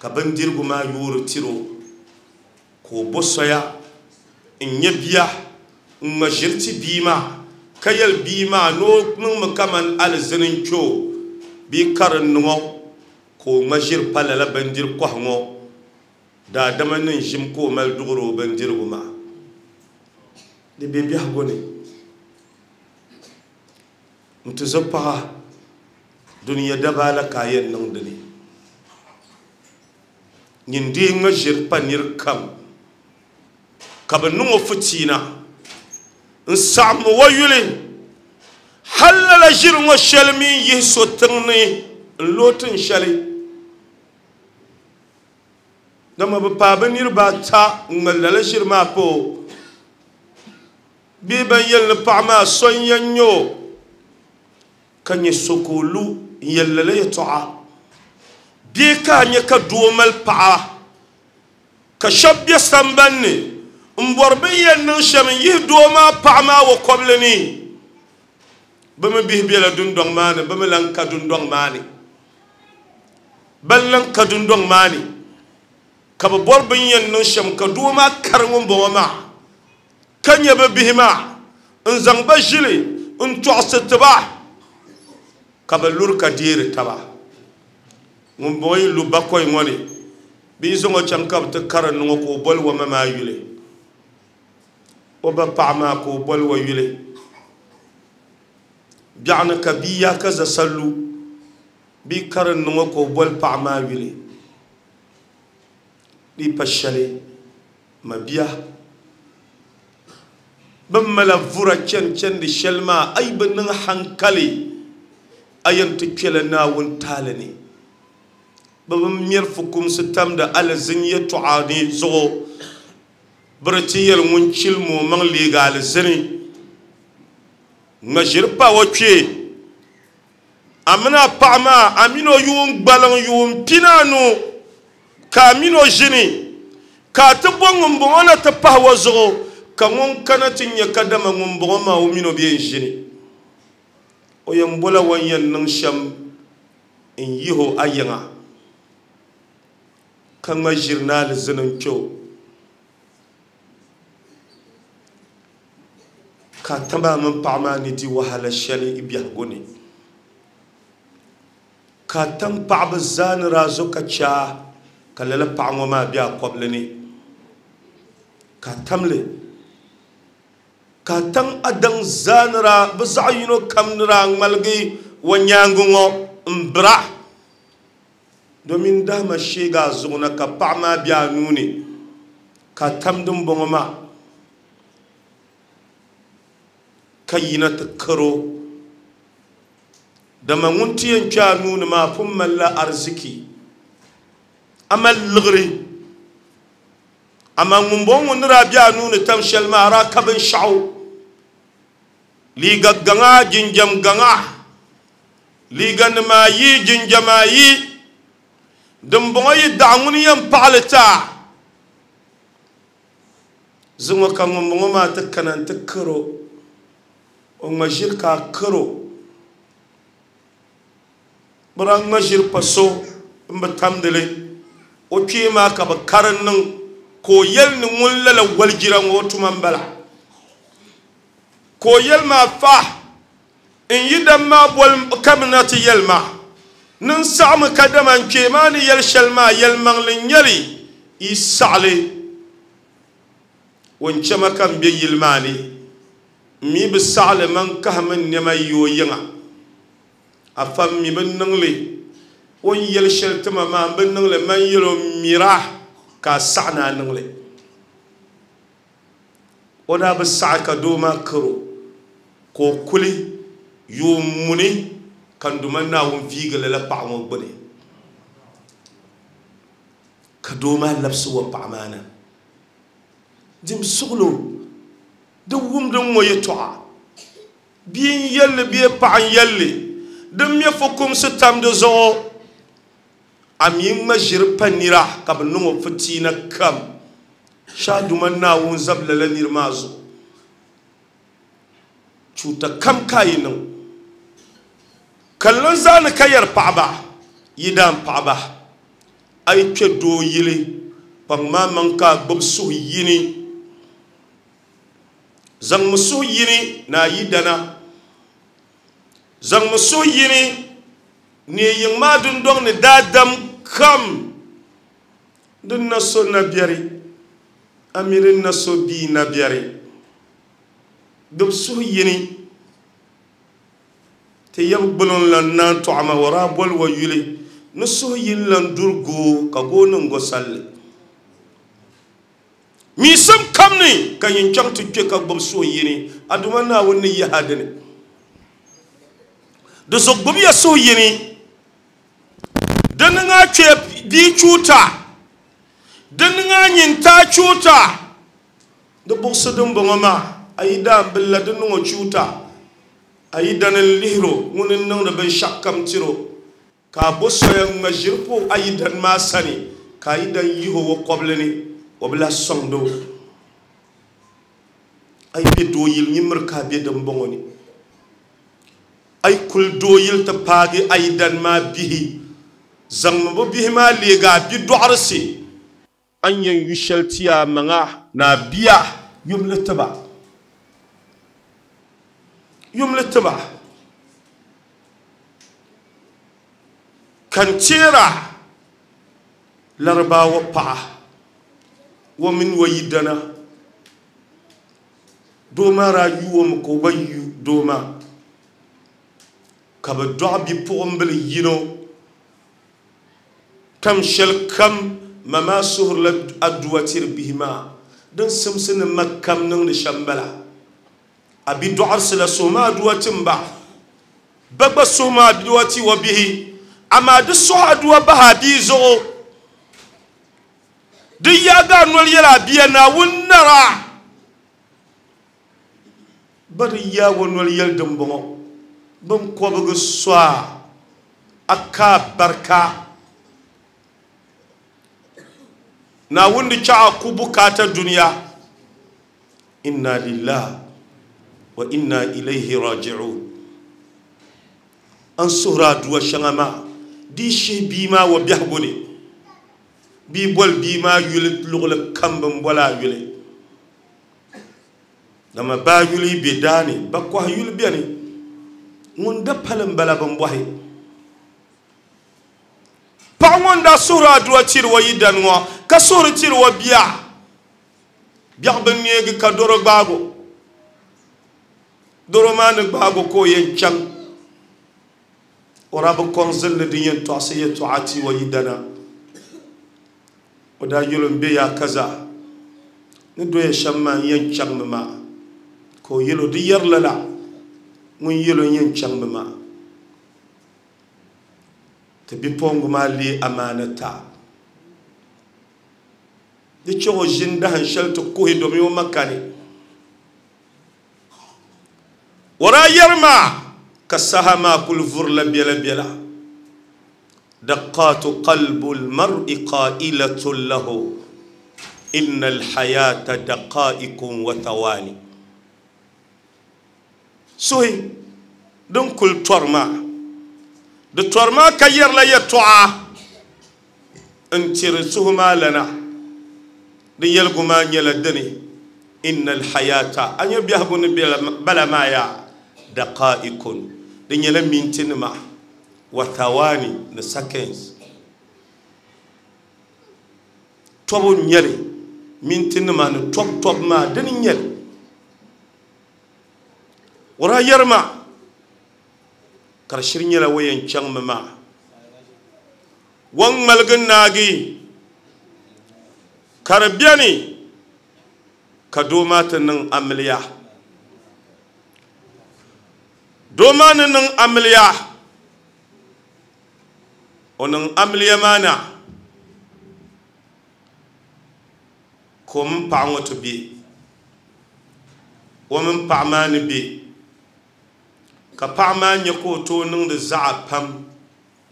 ka bindirigu maa yoori tiri o ka o bo soya n nyɛ bia n ŋma ʒiri ti bia maa ka yɛli bia maa ni o niŋmi kaman alizini n kpe o bee karim niŋ o ka o ŋma ʒiri pa lala bindiri kɔhi ŋɔ. Daadama ni ʒim ka o mali duɣiri o bindirigu maa. Di be biɛhigu ni n ti zo paɣa duniya dabaa la ka a yɛn niŋ dini. Nyin dee ŋma ʒiri pa niri kam ka bi niŋ o fitiina n saɣim o yuli hali lala ʒiri ŋɔ shɛli mi yihi so tiŋ ni n looi tiŋ shɛli. Dama bi paai bi niriba ata n ŋmali lala ʒiri maa pa o bee ban yɛli ni paɣa maa so n yɛn nyɛ o ka nyɛ so ka o lu n yɛli lala yɛtɔɣa bee ka a nyɛ ka doo mali paɣa ka shɛba be sambani ni N bɔri bin yɛn niŋ shɛm n yihi doo maa paɣa maa o kɔbili ni bɛ mi bihi bela dundɔŋ maa ni bɛ mi lan ka dundɔŋ maa ni ban lan ka dundɔŋ maa ni ka bɛ bɔri bin yɛn niŋ shɛm ka doo maa kari ŋun bɔŋɔ maa ka nyɛ bɛ bihi maa n zaŋ ba ʒili n tɔɣisi tiba ka bɛ luri ka deeri taba ŋun bɔŋɔ yi lu bakɔi ŋɔ ni bɛ yi zaŋ o chaŋ ka bɛ ti kari niŋ o ka o boli o ma maa yuli o ba paɣa maa ka o boli o yuli biɛɣuni ka bia yaa ka za sallu bia kari niŋ o ka o boli paɣa maa yuli di pa shɛli ma bia bin mala vura chɛni chɛndi shɛli maa a yi bi niŋ hankali a yɛn ti kpɛla Naawuni taali ni bɛ bi mɛri fukumsi tamdi alizini yɛltɔɣa ni zuɣu biri ti yɛli ŋun chilimi o maŋ leegi alizini ŋma ʒiri pa o kpee a mini a paɣa maa a mini o yuun gbaliŋ yuun pinaanu ka a mini o ʒini ka a ti bɔ ŋun bɔŋɔ na ti pahi o zuɣu ka ŋun kana ti nyɛ kadama ŋun bɔŋɔ maa o mini o bɛ n ʒini o yɛn bɔla o ni yɛn niŋ shɛm n yihi o a yiŋa ka ŋma ʒiri ni alizini n kpɛ o ka taba mini paɣa maa ni di wahala shɛli i biɛhigu ni ka tam paɣaba zaa ni daa zo ka chaa ka lala paɣa ŋɔ maa be a kɔbili ni ka tamli ka tam a daŋ zaa ni daa bɛ zaɣ yino kam ni daa ŋmaligi o nyaangi ŋɔ n bira domin dahama sheegi a zuɣu na ka paɣa maa be a nuu ni ka tam din bɔŋɔ maa ka yina ti karo dama ŋun ti yɛn kpe a nuu ni maa pun malila ariziki a mali liɣiri amaa ŋun bɔŋɔ ŋun ni daa be a nuu ni tam shɛli maa a daa ka binshaɣu liiga gaŋa jinjam gaŋa liiga nima ayi jinjam ayi din bɔŋɔ yi daɣa ŋuni yɛn paɣali ti a zuŋɔ ka ŋun bɔŋɔ maa ti kana n ti karo o ŋma ʒiri ka a karo bɛ daa ŋma ʒiri pa so n bi tamdili o kpee maa ka bɛ kari niŋ ka o yɛli ni ŋun lala walijira ŋɔ o tuma n bala ka o yɛli maa fa n yi dam maa boli kamina ti yɛli ma ni n saɣami kadama n kpee maa ni yɛli shɛli maa yɛlimaŋli n nyɛli yi saɣali o n chɛma ka n be yili maa ni n mi bi saɣali man kahimi n nɛma yi o yiŋa a fa mi bi niŋli o ni yɛli shɛli tima maa n bi niŋli man yɛli o mira ka a saɣa ni a niŋli o daa bi saɣi ka doo maa karo ka o kuli yuun muni ka n duma Naawuni viigi lala paɣa ŋɔ gbuni ka doo maa labisi o paɣa maa na dim suɣulo di wumdi ŋɔ yɛltɔɣa bia n yɛlli bee paɣa n yɛlli din mɛ fukumsi tam di zuɣu a mi ŋma ʒiri pa nira ka bi niŋ o fitiina kam shaa duma Naawuni zabi lala niri maa zuɣu chuuta kam ka yi niŋ ka lan zaani ka yɛri paɣaba yidaan paɣaba a yi kpɛ doo yili kpaŋ maa maŋ ka a gbubi suhu yini zaŋmi suhu yini ni a yidana zaŋmi suhu yini ni yiŋ maa dundɔŋ ni daadam kam din na so nabiɛri a mi din na so bia nabiɛri gbubi suhu yini ti yɛb gbuliŋ lan naan tɔɣima o daa boli o yuli ni suhu yini lan duri goo ka goo niŋ go salli miisim kam ni ka yin chaŋ ti kpe ka gbubi suhu yini a duma Naawuni ni yaha dini di zuɣu gbubiya suhu yini di niŋ a kpee bia chuuta di niŋ a nyintaa chuuta di buɣisi din bɔŋɔ maa a yi daan billa di niŋ o chuuta a yi dani n lihiro ŋuni n niŋdi binshaɣu kam tiro ka a bo soya ŋma ʒiri pa a yi dani maa sani ka a yi dan yihi o o kɔbili ni o bi lahi sɔŋdi o Ay be dooyil ñimmir ka be din bɔŋɔ ni ay kuli dooyil ti paagi ay dan maa bihi zaŋmi bi bihi maa leegi a bi dɔɣirisi an yɛn yu shɛli ti a maŋa ni a bia yumli tiba yumli tiba kan teera Larabawa paɣa wa mini wa yidana doo maa daa yuomi ka o gba yu doo maa ka bi dɔɣi bipuɣimbili yino tam shɛli kam ma maa suhurila aduwa tiri bihi maa din simsi ni ma kam niŋdi shɛm bala a bi dɔɣirisi la suhu maa aduwa timba ba gba suhu maa aduwa ti wa bihi amaa di suhu aduwa bahi a bia zuɣu di yaaga a noli yɛli a bia Naawuni nara ba di yaagi o noli yɛli dimbɔŋɔ bin kɔbigi sɔa a ka barika Naawuni di chaɣa ku bukaata duniya inna lillahi wa inna ilayhi raji'un an suhuri aduwa shɛŋa maa di shihi bia maa wa biɛhigu ni bia boli bia maa yuli luɣuli kam bin boli a yuli dama baa yuli be daani ba kɔhi yuli beni ŋun da pali n bala bin bɔhi paɣa ŋun daa suhuri aduwa tiri o yidani ŋɔ ka suhuri tiri o bia biɛɣu bin neegi ka doro gbaago doro maa ni gbaago ka o yɛn chaŋ o daa bi kɔŋ zilli din yɛn tɔɣisi yɛltɔɣa ti o yidana o daa yɛli n be yaa kaza ni doya shɛm maa n yɛn chaŋmi maa ka o yɛli o di yɛri lala ŋun yɛli o n yɛn chaŋmi maa ti bipuɣingu maa lee amaana ta di chɛ o ʒini dahin shɛli ti kuhi domi o ma kani o daa yɛri maa ka saha maa kuli vurila biɛla biɛla دقات قلب المرء قائلة له إن الحياة دقائق وثواني سوي دون كل تورما دي تورما كير لا يتوعى انترسهما لنا دي يلقوا ما يلدني إن الحياة أن يبيهبون بلا ما يا دقائق دي يلمين ما وثواني ni seconds tobu nyɛli minti nima ni tob tob maa dini nyɛli o daa yɛri maa ka di shiri nyɛla o yɛn chaŋmi maa o ŋmaligi naagi ka di beni ka doo maa ti niŋ amiliya doo maa ni niŋ amiliya o niŋ amiliya maa na ka o mini paɣa ŋɔ ti be o mini paɣa maa ni be ka paɣa maa nyɛ ka o tooi niŋdi zaɣa pam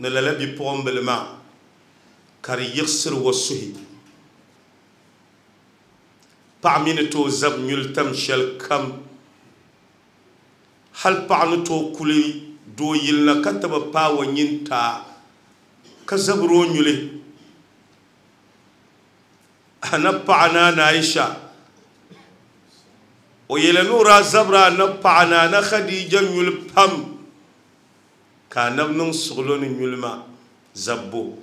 ni lala bipuɣimbili maa ka di yiɣisiri o suhi paɣa mi ni tooi zabi nyuli tam shɛli kam hali paɣa ni tooi kuli doo yili na ka ti bi paai o nyin taa ka zabiri o nyuli ana paɣa na Aisha o yɛli ni o daa zabiri ana paɣa na ana Khadija nyuli pam ka anabi niŋ suɣulo ni nyuli maa zabbo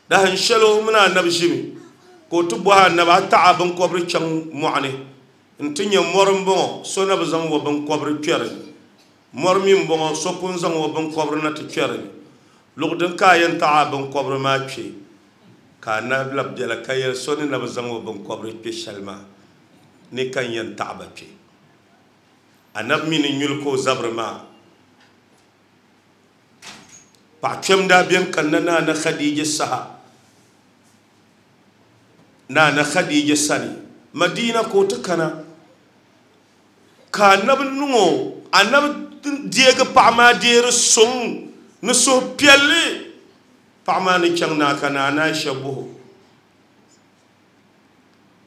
dahin shɛli o mini anabi ʒimi ka o ti bɔhi anabi a taɣa binkɔbiri chaŋ mɔɣuni n ti nyɛ mɔri n bɔŋɔ so na bi zaŋ o binkɔbiri kpɛri mɔri mi n bɔŋɔ so pun zaŋ o binkɔbiri na ti kpɛri luɣu din ka a yɛn taɣa binkɔbiri maa kpɛ ka anabi labi biɛla ka yɛli so ni na bi zaŋ o binkɔbiri kpɛ shɛli maa ni ka n yɛn taɣaba kpɛ anabi mi ni nyuli ka o zabiri maa paɣa kpɛm daa bɛni kanna Naana Khadija saha Naana Khadija sani Madina ka o ti kana ka anabi niŋ o anabi deegi paɣa maa deeri suŋ ni suhupiɛlli paɣa maa ni chaŋ naa ka Naana Aisha buhu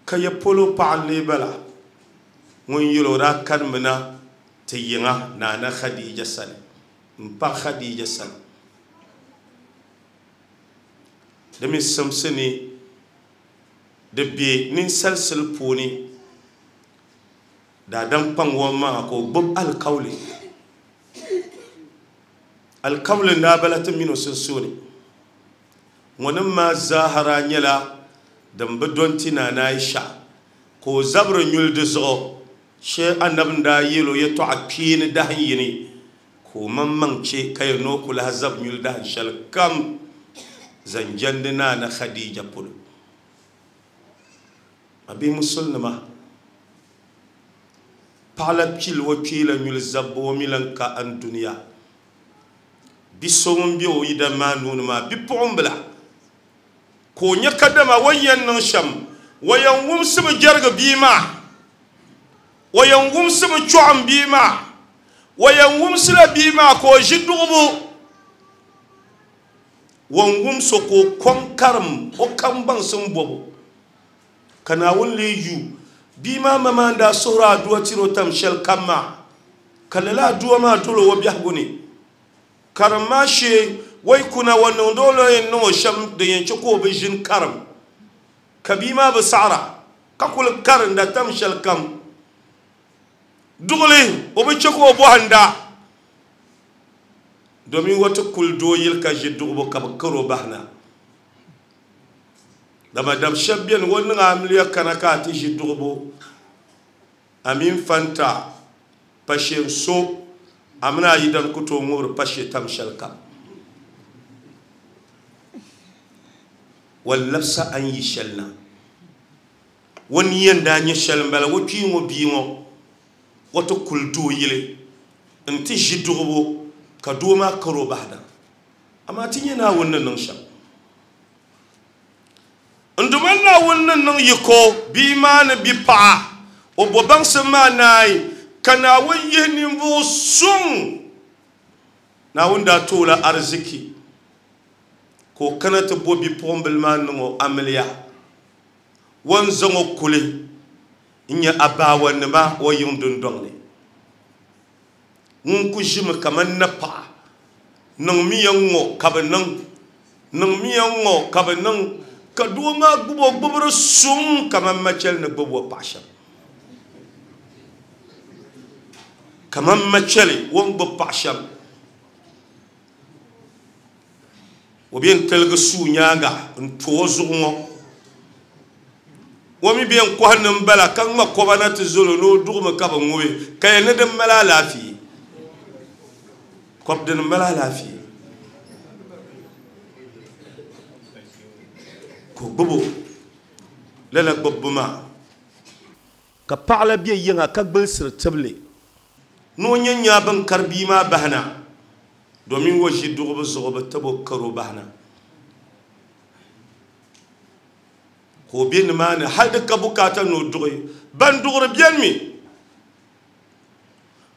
ka ya polo paɣa n lee bala Ŋun yɛl o daa kanimina ti yiŋa Naana Khadija sani n paɣa Khadija sani di mi simsi ni di be ninsalisili puuni daadam kpaŋ o maŋa ka o gbubi alikauli alikauli n daa bala ti mini o sunsuuni ŋɔnim maa zahara nyɛla din bi dɔn ti Naana Aisha ka o zabiri nyuli di zuɣu shee anabi n daa yɛl o yɛltɔɣa kpeeni dahin yini ka o maŋmaŋ che ka yɛn ni o ku lahi zabi nyuli dahin shɛli kam zaŋ jɛndi Naana Khadija polo a bihi musulinima paɣa la pili o kpee la nyuli zabbu o mi lan ka an duniya bi so ŋun be o yidan maa nuuni maa bipuɣimbila ka o nyɛ kadama o yɛn niŋ shɛm o yɛn wumsibi jɛrigi bia maa o yɛn wumsibi chɔɣim bia maa o yɛn wumsila bia maa ka o ʒi duɣubu ŋun wumso ka o kɔŋ karim o kam baŋsim bɔbu ka Naawuni lee yu bia maa ma maa n daa suhuri aduwa tiri o tam shɛli kam maa ka lala aduwa maa doli o biɛhigu ni karim maa shee o yi kuna o niŋdi o la yɛn niŋ o shɛm din yɛn chɛ ka o bi ʒini karim ka bia maa bi saɣara ka kuli karinda tam shɛli kam duɣuli o bi chɛ ka o bɔhinda domin o ti kuli doo yili ka ʒi duɣubu ka bi kari o bahina dama dab shɛba beni o niŋ amiliya kana ka a ti ʒi duɣubu a mini fanta pashe so a mini a yidan ku tooi ŋubiri pashe tam shɛli kam wal labisa an yi shɛli na o ni yɛn daa nyɛ shɛli n bala o kpii ŋɔ bia ŋɔ o ti kuli doo yili n ti ʒi duɣubu ka doo maa kari o bahina amaa ti nyɛ Naawuni ni niŋ shɛm n duma Naawuni ni niŋ yiko bia maa ni bi paɣa o bo baŋsim maa naai ka Naawuni yihi ninvuɣu suŋ Naawuni daa tooi la ariziki ka o kana ti bo bipuɣimbila maa niŋ o amiliya o ni zaŋ o kuli n nyɛ abaawanima o yiŋ dundɔŋ ni ŋun ku ʒimi kaman napaɣa niŋmiya ŋɔ ka bi niŋ niŋmiya ŋɔ ka bi niŋ ka doo maa gbubi o gbubiri suŋ kaman machɛli ni gbubi o paɣa shɛm kaman machɛli o ni gbubi paɣa shɛm o bɛ n tiligi suu nyaanga n to o zuɣu ŋɔ o mi bɛ n kɔhi nim bala ka ŋma kɔba na ti zolo ni o duɣumi ka bi ŋubi ka yɛn ni din mali alaafee kɔb din mali alaafee ka o gbubi o lala gbubbu maa ka paɣa la bɛ yiŋa ka gbulisiri tibili ni o nyɛ nyaa bin kari bia maa bahina domin o ʒi duɣubu zuɣu bi tabi o kari o bahina ka o bɛ nimaani hali di ka bukaata ni o duɣi ban duɣuri biɛni mi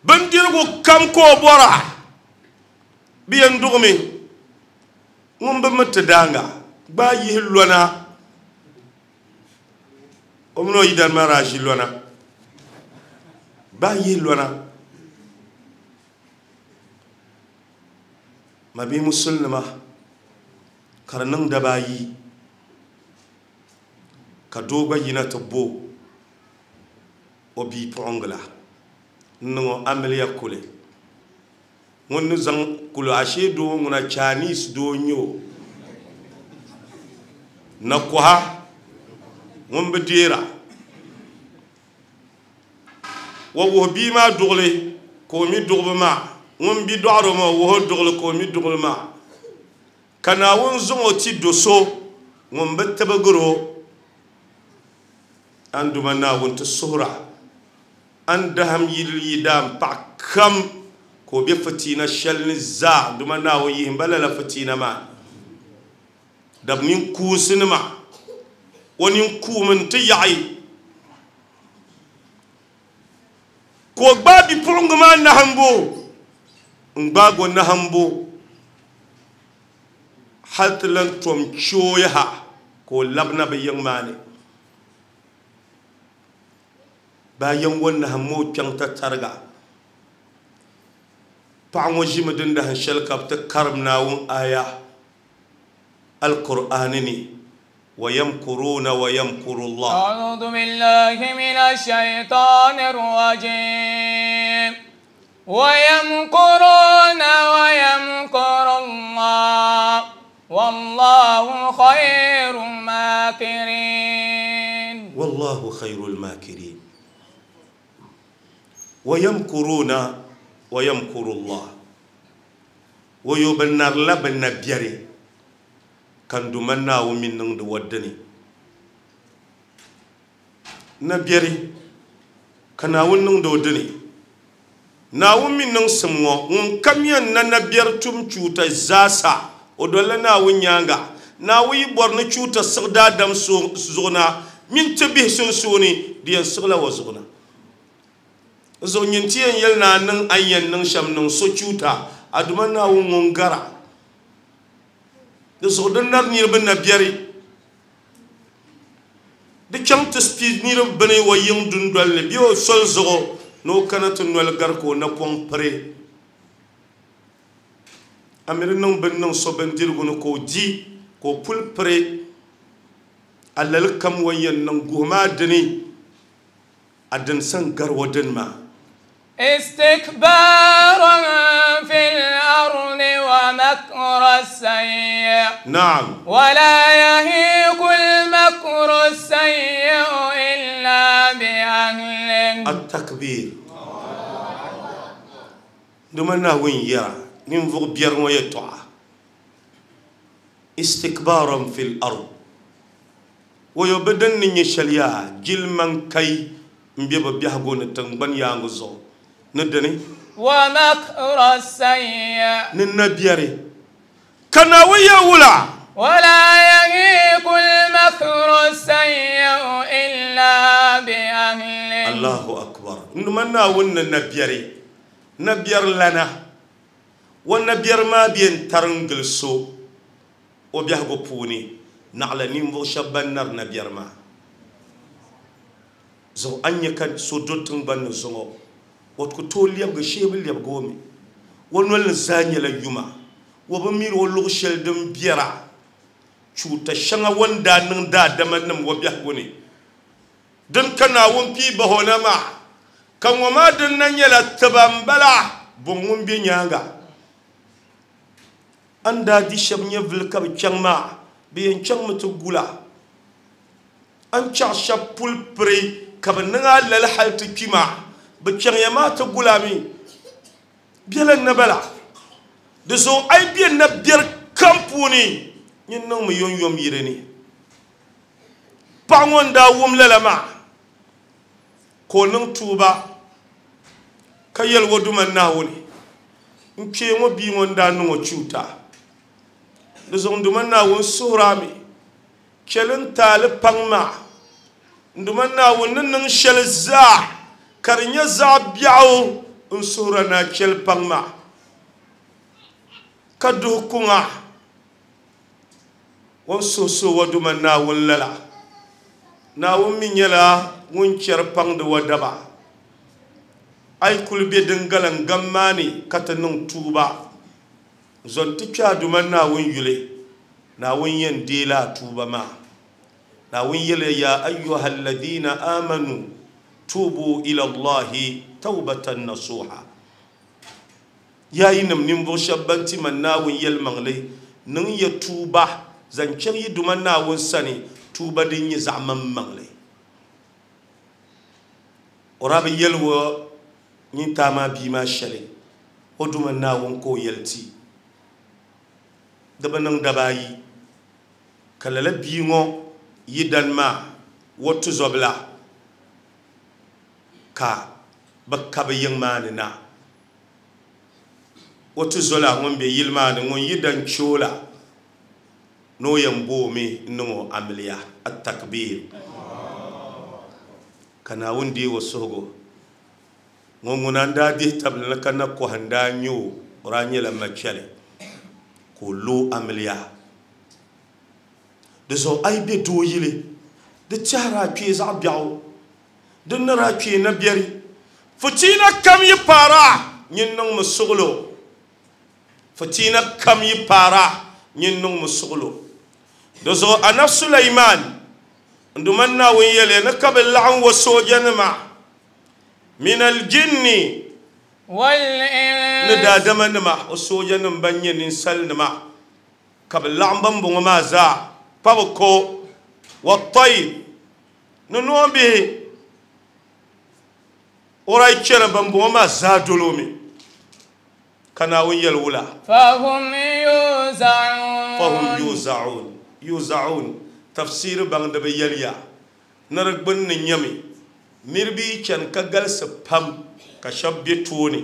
bindirigu kam ka o bɔra bi yɛn duɣumi ŋun bi mi ti daanga gba yihi lɔna o mini o yidana maa daa ʒi lɔna gba yihi lɔna ma bihi musulinima ka di niŋ daba ayi ka doo gba yina ti bo o bipuɣiŋgila n niŋ o amiliya kuli ŋun ni zaŋ kuli ashee doo ŋuna Chinese doo n nyɛ o na kɔha ŋun bi deera o wuhi bia maa duɣuli ka o mi duɣubu maa ŋun bi dɔɣiri o maa o wuhi o duɣuli ka o mi duɣuli maa ka Naawuni zaŋ o ti do so ŋun bi tibigiri o an duma Naawuni ti suhura an daham yili yidan paɣa kam ka o be fitiina shɛli ni zaa duma Naawuni yihi ba lala fitiina maa dab ninkuunsi nima o ninkuumi n ti yaɣi ka o gbaai bipuɣingi maa nahimbu n gbaagi o nahimbu hali ti lan tom chooyi ha ka o labina bi yiŋ maa ni Bayan wannan hammo kyan ta targa paɣa ŋɔ ʒimi din dahin shɛli ka bi ti karim Naawuni aya alqur'ani ni wa yamkuruna wa yamkuru Allah. أعوذ بالله من الشيطان الرجيم ويمكرون ويمكر الله والله خير الماكرين. والله خير الماكرين. ويمكرون ويمكر الله ويبنر لبن بيري كان دمنا ومن نند ودني نبيري كان ونند ودني ناوم من نسمو ون كمين نبير توم تشوتا زاسا ودولنا ونيانغا ناوي بورن تشوتا سغدا دم زونا من تبيه سنسوني ديان سغلا وزغنا zo nyintiyen yel na nan ayen nan sham nan so chuta aduma na won ngara de so den nar ni ben na biari de cham to speed ni ben wo yin dun dol ne bio sol zo no kanatu nol gar ko na pon pre amir nan ben nan so ben dirgo no ko di ko pul pre alal kam wayen nan goma dini adan san gar wadan ma استكبارا في الأرض ومكر السيء. نعم. ولا يهيق المكر السيء إلا بأهله. التكبير. دمنا وين يرى ننفق بير ويتوع استكبارا في الأرض ويبدن نشليا جل من كي مبيب بيهغون تنبن يانغزو ندني ومكر السيء ننبيري كناوية ولا ولا يهيق المكر السيء إلا بأهله. الله أكبر. نمنا ون نبيري نبير لنا ونبير ما بين ترنجلسو وبيهغو بوني نعلى نمو شبان نر نبير ما zo anya kan so dotun ban zo wat ko to liyab ga shebel liyab gomi won wal zanya la yuma wo ba mir wo lu shel dum biara chuta shanga wanda nan da daman nan wo biya gone dan kana won fi bahona ma kan wa ma dun nan yala tabambala bun won bi nyanga anda di shab nya vil ka chang ma bi en chang mutu gula an cha shab pul pre kaban nga lal halti kima bi chang ya ma ta gulami bialan na bala de so ay bien na bier kampuni nyin nang mu yon yom yire ni pangon da wum lalama ko nang tuba kayel woduma nawoni nke mo bi ngon da no chuta de so nduma nawon surami kelen tal pangma nduma nawon nan shel za karnya za biaw un surana kel pangma kadu kunga won so so waduma nawon lala nawon min yela ngun cer pang de wadaba ay kulbe dingalan gammani kata nun tuba zon ti duma nawon yule nawon yen dela tuba ma nawon yele ya ayyuhal ladina amanu tubu ila allahi tawbatan nasuha ya yinam nimbo shabbanti man nawon yel mangle nun ya tuba zancen yi duma nawon sani tuba din yi zaman mangle orabi yelwo nyin tama bi ma shale o duma nawon ko yelti daba nan dabayi kalala bi ngo yidan ma wotu zobla ka bakka be yingma ni na wotu zola ngon be yilma ni ngon yidan chola no yambo mi nungo amliya at-takbir kana wundi wasogo ngon da di tabla kana ko handa nyu ranyela machale ko lo amliya de so ay be do yile de chara pie za biaw Din ni daa kpee na biɛri fitiina kam yi paara nyin niŋmi suɣulo fitiina kam yi paara nyin niŋmi suɣulo di zuɣu Annabi Sulaiman n duman Naawuni yɛliya ni ka bi laɣim wa soojanima min aljinni ni daadamanima o soojanima ban nyɛ ninsalinima ka bi laɣim ban bɔŋɔ maa zaa pa bi ko wa tayr ni noombihi o daa chɛna ban bɔŋɔ maa zaa dolo mi ka Naawuni yɛli wula fahum yuzaun fahum yuzaun yuzaun tafsiri baŋdiba yɛliya ni di gbunni nyɛmi niriba yi chani ka galisi pam ka shɛba be tooni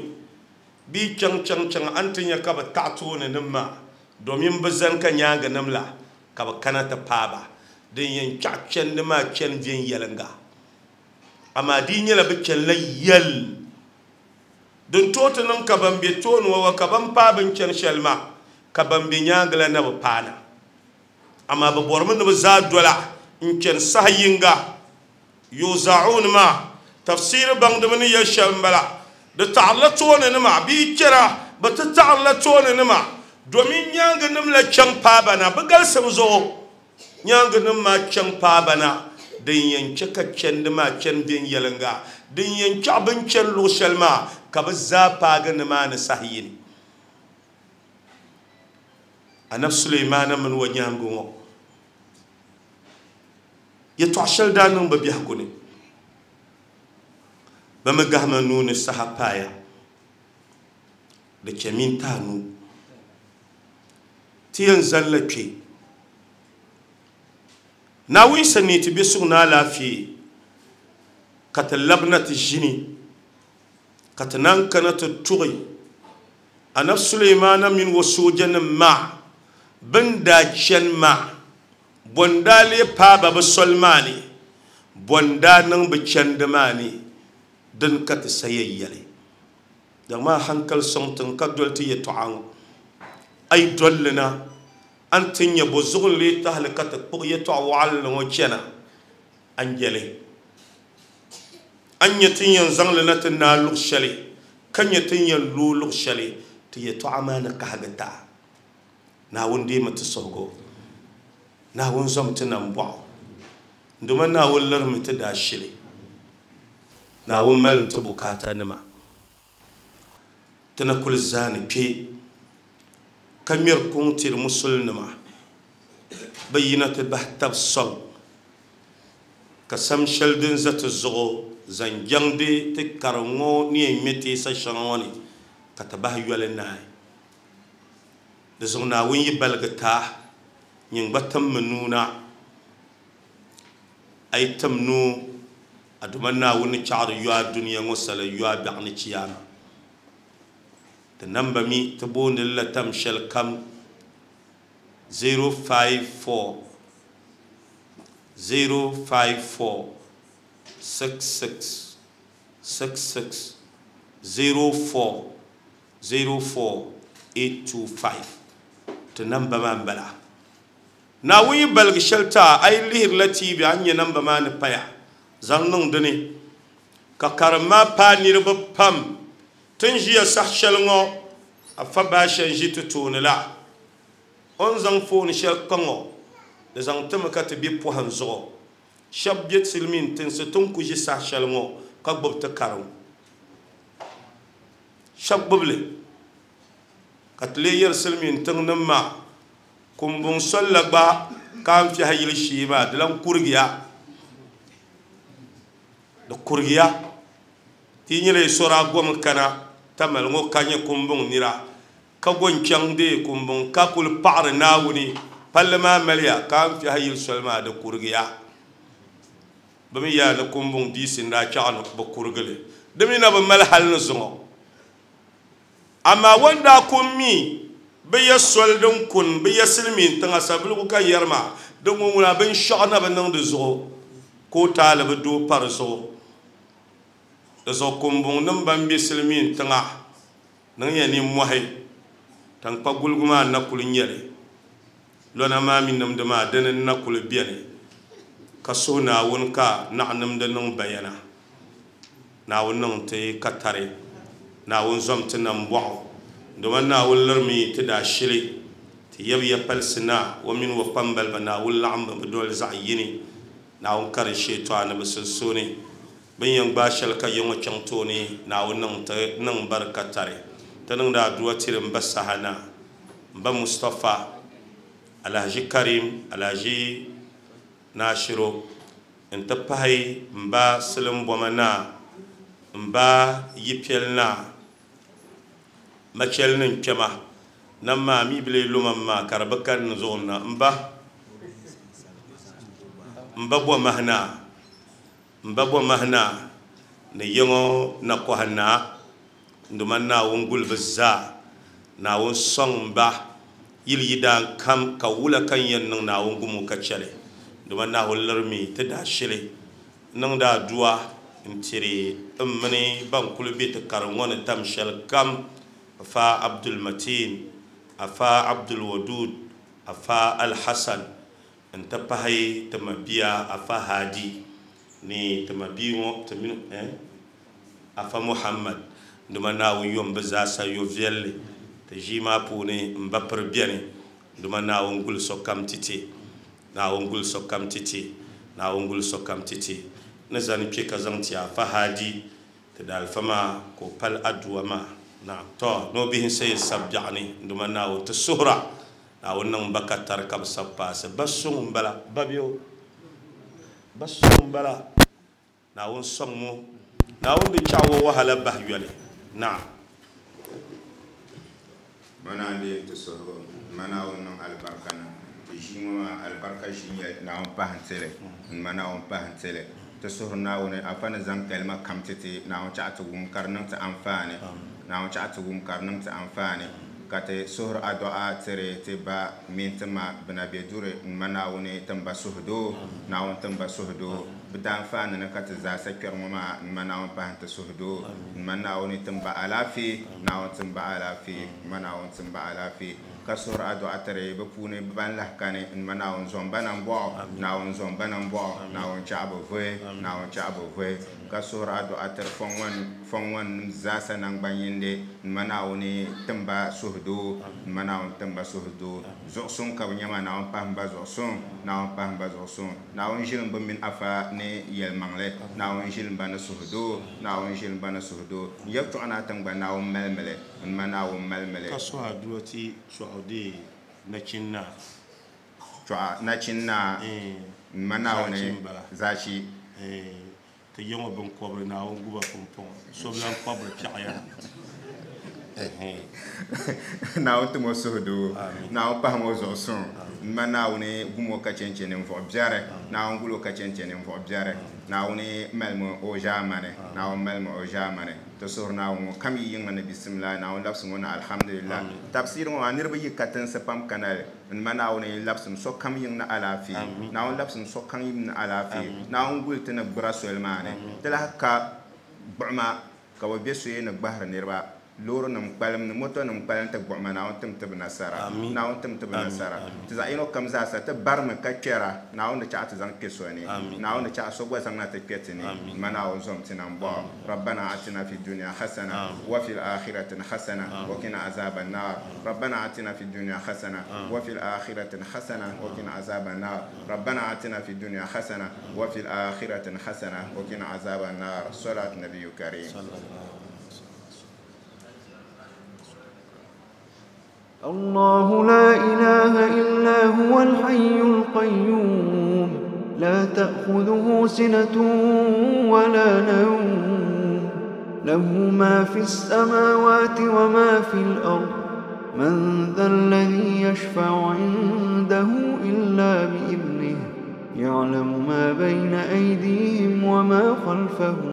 bɛ yi chaŋ chaŋ chaŋ a ni ti nya ka bɛ taɣi tooni nim maa domin bɛ zani ka nyaangi nim la ka bɛ kana ti paai ba din yɛn chaɣi chandi maa chani viɛnyɛliŋga amaa di nyɛla bɛ chanila yɛl din tooi ti niŋ ka ban be tooni ŋɔ wa ka ban paai bin chani shɛli maa ka ban be nyaangi la na bi paana amaa bɛ bɔrimi ni bɛ zaa dola n chani saha yinga yuzaun maa tafsiri baŋdiba ni yɛli shɛm m-bala di taɣirila tooni nima bɛ yi chana bɛ ti taɣirila tooni nima domin nyaangi nim la chaŋ paai ba na bɛ galisim zuɣu nyaangi nim maa chaŋ paai ba na din yɛn chɛ ka chandi maa chani viɛnyɛliŋga din yɛn chaɣi bin chani luɣu shɛli maa ka bɛ zaa paagi nimaani saha yini Annabi Sulaimaana mini o nyaangi ŋɔ yɛltɔɣa shɛli daa niŋ bɛ biɛhigu ni bɛ mi gahama nuu ni saha paaya di chɛ minti anu ti yɛn zali la kpe Naawuni sani ti be suŋ ni alaafee ka ti labina ti ʒini ka ti naan kana ti tuɣi Annabi Sulaimaana mini o soojanima maa bin daa chani maa bon daa lee paai ba bɛ soli maa ni bon daa niŋ bɛ chandi maa ni din ka ti sa yɛn yɛli daŋ maa hankali sɔŋ tiŋ ka doli ti yɛltɔɣa ŋɔ a yi dolli na a ni ti nya bo zuɣu n-lee tahili ka ti kpuɣi yɛltɔɣa waɣinli ŋɔ chana a ni yɛli a ni nya ti ni yɛn zaŋ li na ti naai luɣ shɛli ka nya ti ni yɛn looi luɣ shɛli ti yɛltɔɣa maa ni kahigi ta Naawuni deemi ti suhigu Naawuni zom ti nambɔɣu nduma Naawuni lirimi ti daashili Naawuni mali ti bukaata nima ti na kuli zaani kpe ka ŋmɛri kuŋ tiri musulinima bɛ yina ti bahi tabi sɔŋ ka sam shɛli din za ti zuɣu zaŋ jaŋdi ti karim ŋɔ ni yɛn ŋmɛ teesa shɛŋa ŋɔ ni ka ti bahi yoli naai di zuɣu Naawuni yi baligi taa nyin gba timmi nuu na a yi tim nuu a duma Naawuni ni chaɣiri yo a dunia ŋɔ sala yo a biɛɣu ni chiyaama ti namba mi ti booni la tam shɛli kam zero five four zero five four six six six six zero four zero four eight two five ti namba maa m-bala Naawuni yi baligi shɛli taa a yi lihirila T V a ni nya namba maa ni paya zaŋ niŋ dini ka karim maa paai niriba pam ti ni ʒiya saha shɛli ŋɔ afa baasha n-ʒi ti tooni la o ni zaŋ fooni shɛli kpa ŋɔ di zaŋ timi ka ti be pɔhim zuɣu shɛba be silimiin tinsi ti ni ku ʒi saha shɛli ŋɔ ka gbubi ti karim shɛba gbubi li ka ti lee yɛri silimiin tiŋ nim maa kumbuŋ soli la gba ka n fiɛhi yili shee maa di lan kurigiya di kurigiya ti nyɛla yi sɔri a gom kana tamali ŋɔ ka nyɛ kumbuŋ nira ka go n-chaŋ deei kumbuŋ ka kuli paɣiri Naawuni palli maa maliya ka n fiɛhi yili soli maa di kurigiya bɛ mi yaa ni kumbuŋ diisi n-daa chaɣi ni bɛ kurigili di mi na bi mali hali ni zuŋɔ amaa o ni daa kun mi bɛ ya soli din kun bɛ ya silimiin tiŋa sabiligu ka yɛri maa din ŋɔ ŋuna binshɛɣu na bi niŋ di zuɣu ka o taali bi doo pa di zuɣu di zuɣu kumbuŋ nim ban be silimiin tiŋa niŋ ya nimmɔhi tankpaguligu maa na kuli nyɛli lɔna maa mi nimdi maa dini n na kuli beni ka suhi Naawuni ka naɣ nimdi niŋ bayana Naawuni niŋ ti katari Naawuni zom ti nambɔɣu domin Naawuni lirimi ti daashili ti yab ya palisi na o mini o kpambaliba Naawuni laɣim bi doli zaɣ yini Naawuni kari sheetɔɣa ni bi sunsuuni bin yɛn gbaai shɛli ka yiŋɔ chaŋ tooni Naawuni niŋ ti niŋ barika tari ti niŋdi aduwa tiri n ba saha na n ba Mustapha Alhaji Karim Alhaji Nashiro n ti pahi n ba Silimboma na n ba Yipɛli na machɛli ni kpɛma nam maa mi bile loma maa ka di bi kani ni zuɣu na n ba n ba Bomahi na n ba Bomahi na ni yiŋɔ na kɔhi na nduma Naawuni guli bi zaa Naawuni sɔŋ n ba yili yidaan kam ka wula ka n yɛn niŋ Naawuni gumo ka chɛli nduma Naawuni lirimi ti daashili niŋdi aduwa n tiri n mini ban kuli be ti karim ŋɔ ni tam shɛli kam afa Abdul Matin afa Abdul Wadud afa Al-Hasan n ti pahi ti mabia afa Hadi ni ti mabia ŋɔ ti mini eh afa Muhammad nduma Naawuni yom bi zaasa yo viɛlli ti ʒii maa puuni n ba piri beni nduma Naawuni guli sokam titi Naawuni guli sokam titi Naawuni guli sokam titi ni zani kpe ka zaŋ ti afa Hadi ti daalifa maa ka o pali aduwa maa na to no bihi n sayi sab biɛɣu ni nduma Naawuni ti suhura Naawuni niŋ ba ka tari ka bi sab paasi ba suŋ n bala ba bɛ ba suŋ n bala Naawuni sɔŋ mu Naawuni bi chaɣ o wahala bahi yoli na mana n ti suhigu ma Naawuni niŋ alibarika na ti ʒii ŋɔ maa alibarika ʒii nyɛ Naawuni pahi n tili ma Naawuni pahi n tili ti suhuri Naawuni afa ni zaŋ kalima kam ti ti Naawuni chaɣ ti wum ka di niŋ ti anfaani Naawuni chaɣ ti wum ka di niŋ ti anfaani ka ti suhuri adu'a tiri ti ba mini ti ma bina be duri ma Naawuni ti ba suhudoo Naawuni ti ba suhudoo bi daanfaani ni ka ti zaasa kpɛri ŋɔ maa ma Naawuni pahi ti suhudoo ma Naawuni ti ba alaafee Naawuni ti ba alaafee ma Naawuni ti ba alaafee ka suhuri adu'a tiri bi puuni bi ban lahi kani ma Naawuni zɔn ba nambɔɣu Naawuni zɔn ba nambɔɣu Naawuni chaɣ bi vuhi Naawuni chaɣ bi vuhi ka suhuri adu'a tiri fɔŋ ŋɔ nim zaasa nangban yindi ma Naawuni ti ba suhudoo ma Naawuni ti ba suhudoo zuɣusuŋ ka bi nyɛ maa Naawuni pahi ba zuɣusuŋ Naawuni pahi ba zuɣusuŋ Naawuni ʒilim bi mini afa ni yɛlimaŋli Naawuni ʒilim ba ni suhudoo Naawuni ʒilim ba ni suhudoo n yɛltɔɣa naa tiŋgbani Naawuni malimili ma Naawuni malimili ka suhi aduwa ti chɔɣu dee nachin naa chɔɣu nachin naa ma Naawuni zaachi ti yiŋɔ binkɔbiri Naawuni guba pumpɔŋɔ so bi lan kɔbiri piɛɣu Naawuni ti mo suhudoo Naawuni pahi mo zuɣusuŋ ma Naawuni gumo ka chɛnchɛ ninvuɣu biɛri Naawuni gulo ka chɛnchɛ ninvuɣu biɛri Naawuni malimi o ʒaamani Naawuni malimi o ʒaamani ti suhuri Naawuni ŋɔ kam yi yiŋa ni bisimila Naawuni labisi ŋɔ na alhamdulillah tabsiri ŋɔ maa niriba yi katinsi pam kanali ma Naawuni labsim sokam yiŋ ni alaafee Naawuni labsim sokam yiŋ ni alaafee Naawuni guli ti ni gbura soli maa ni ti lahi ka gbuɣima ka bi be soya ni gbahiri niriba loori nim kpalim ni moto nim kpalim ti gbuɣima Naawuni tim ti bi nasara Naawuni tim ti bi nasara ti zaɣ yino kam zaasa ti barimi ka kpɛra Naawuni di chaɣ ti zaŋ kpɛ so ni Naawuni di chaɣ so gba zaŋna ti kpɛ ti ni ma Naawuni zom ti nambɔɣu rabbana atina fi dunya hasana wa fil akhirati hasana wa qina azaban nar rabbana atina fi dunya hasana wa fil akhirati hasana wa qina azaban nar rabbana atina fi dunya hasana wa fil akhirati hasana wa qina azaban nar salat nabiyyu karim. الله لا إله إلا هو الحي القيوم لا تأخذه سنة ولا نوم له ما في السماوات وما في الأرض من ذا الذي يشفع عنده إلا بإذنه يعلم ما بين أيديهم وما خلفهم.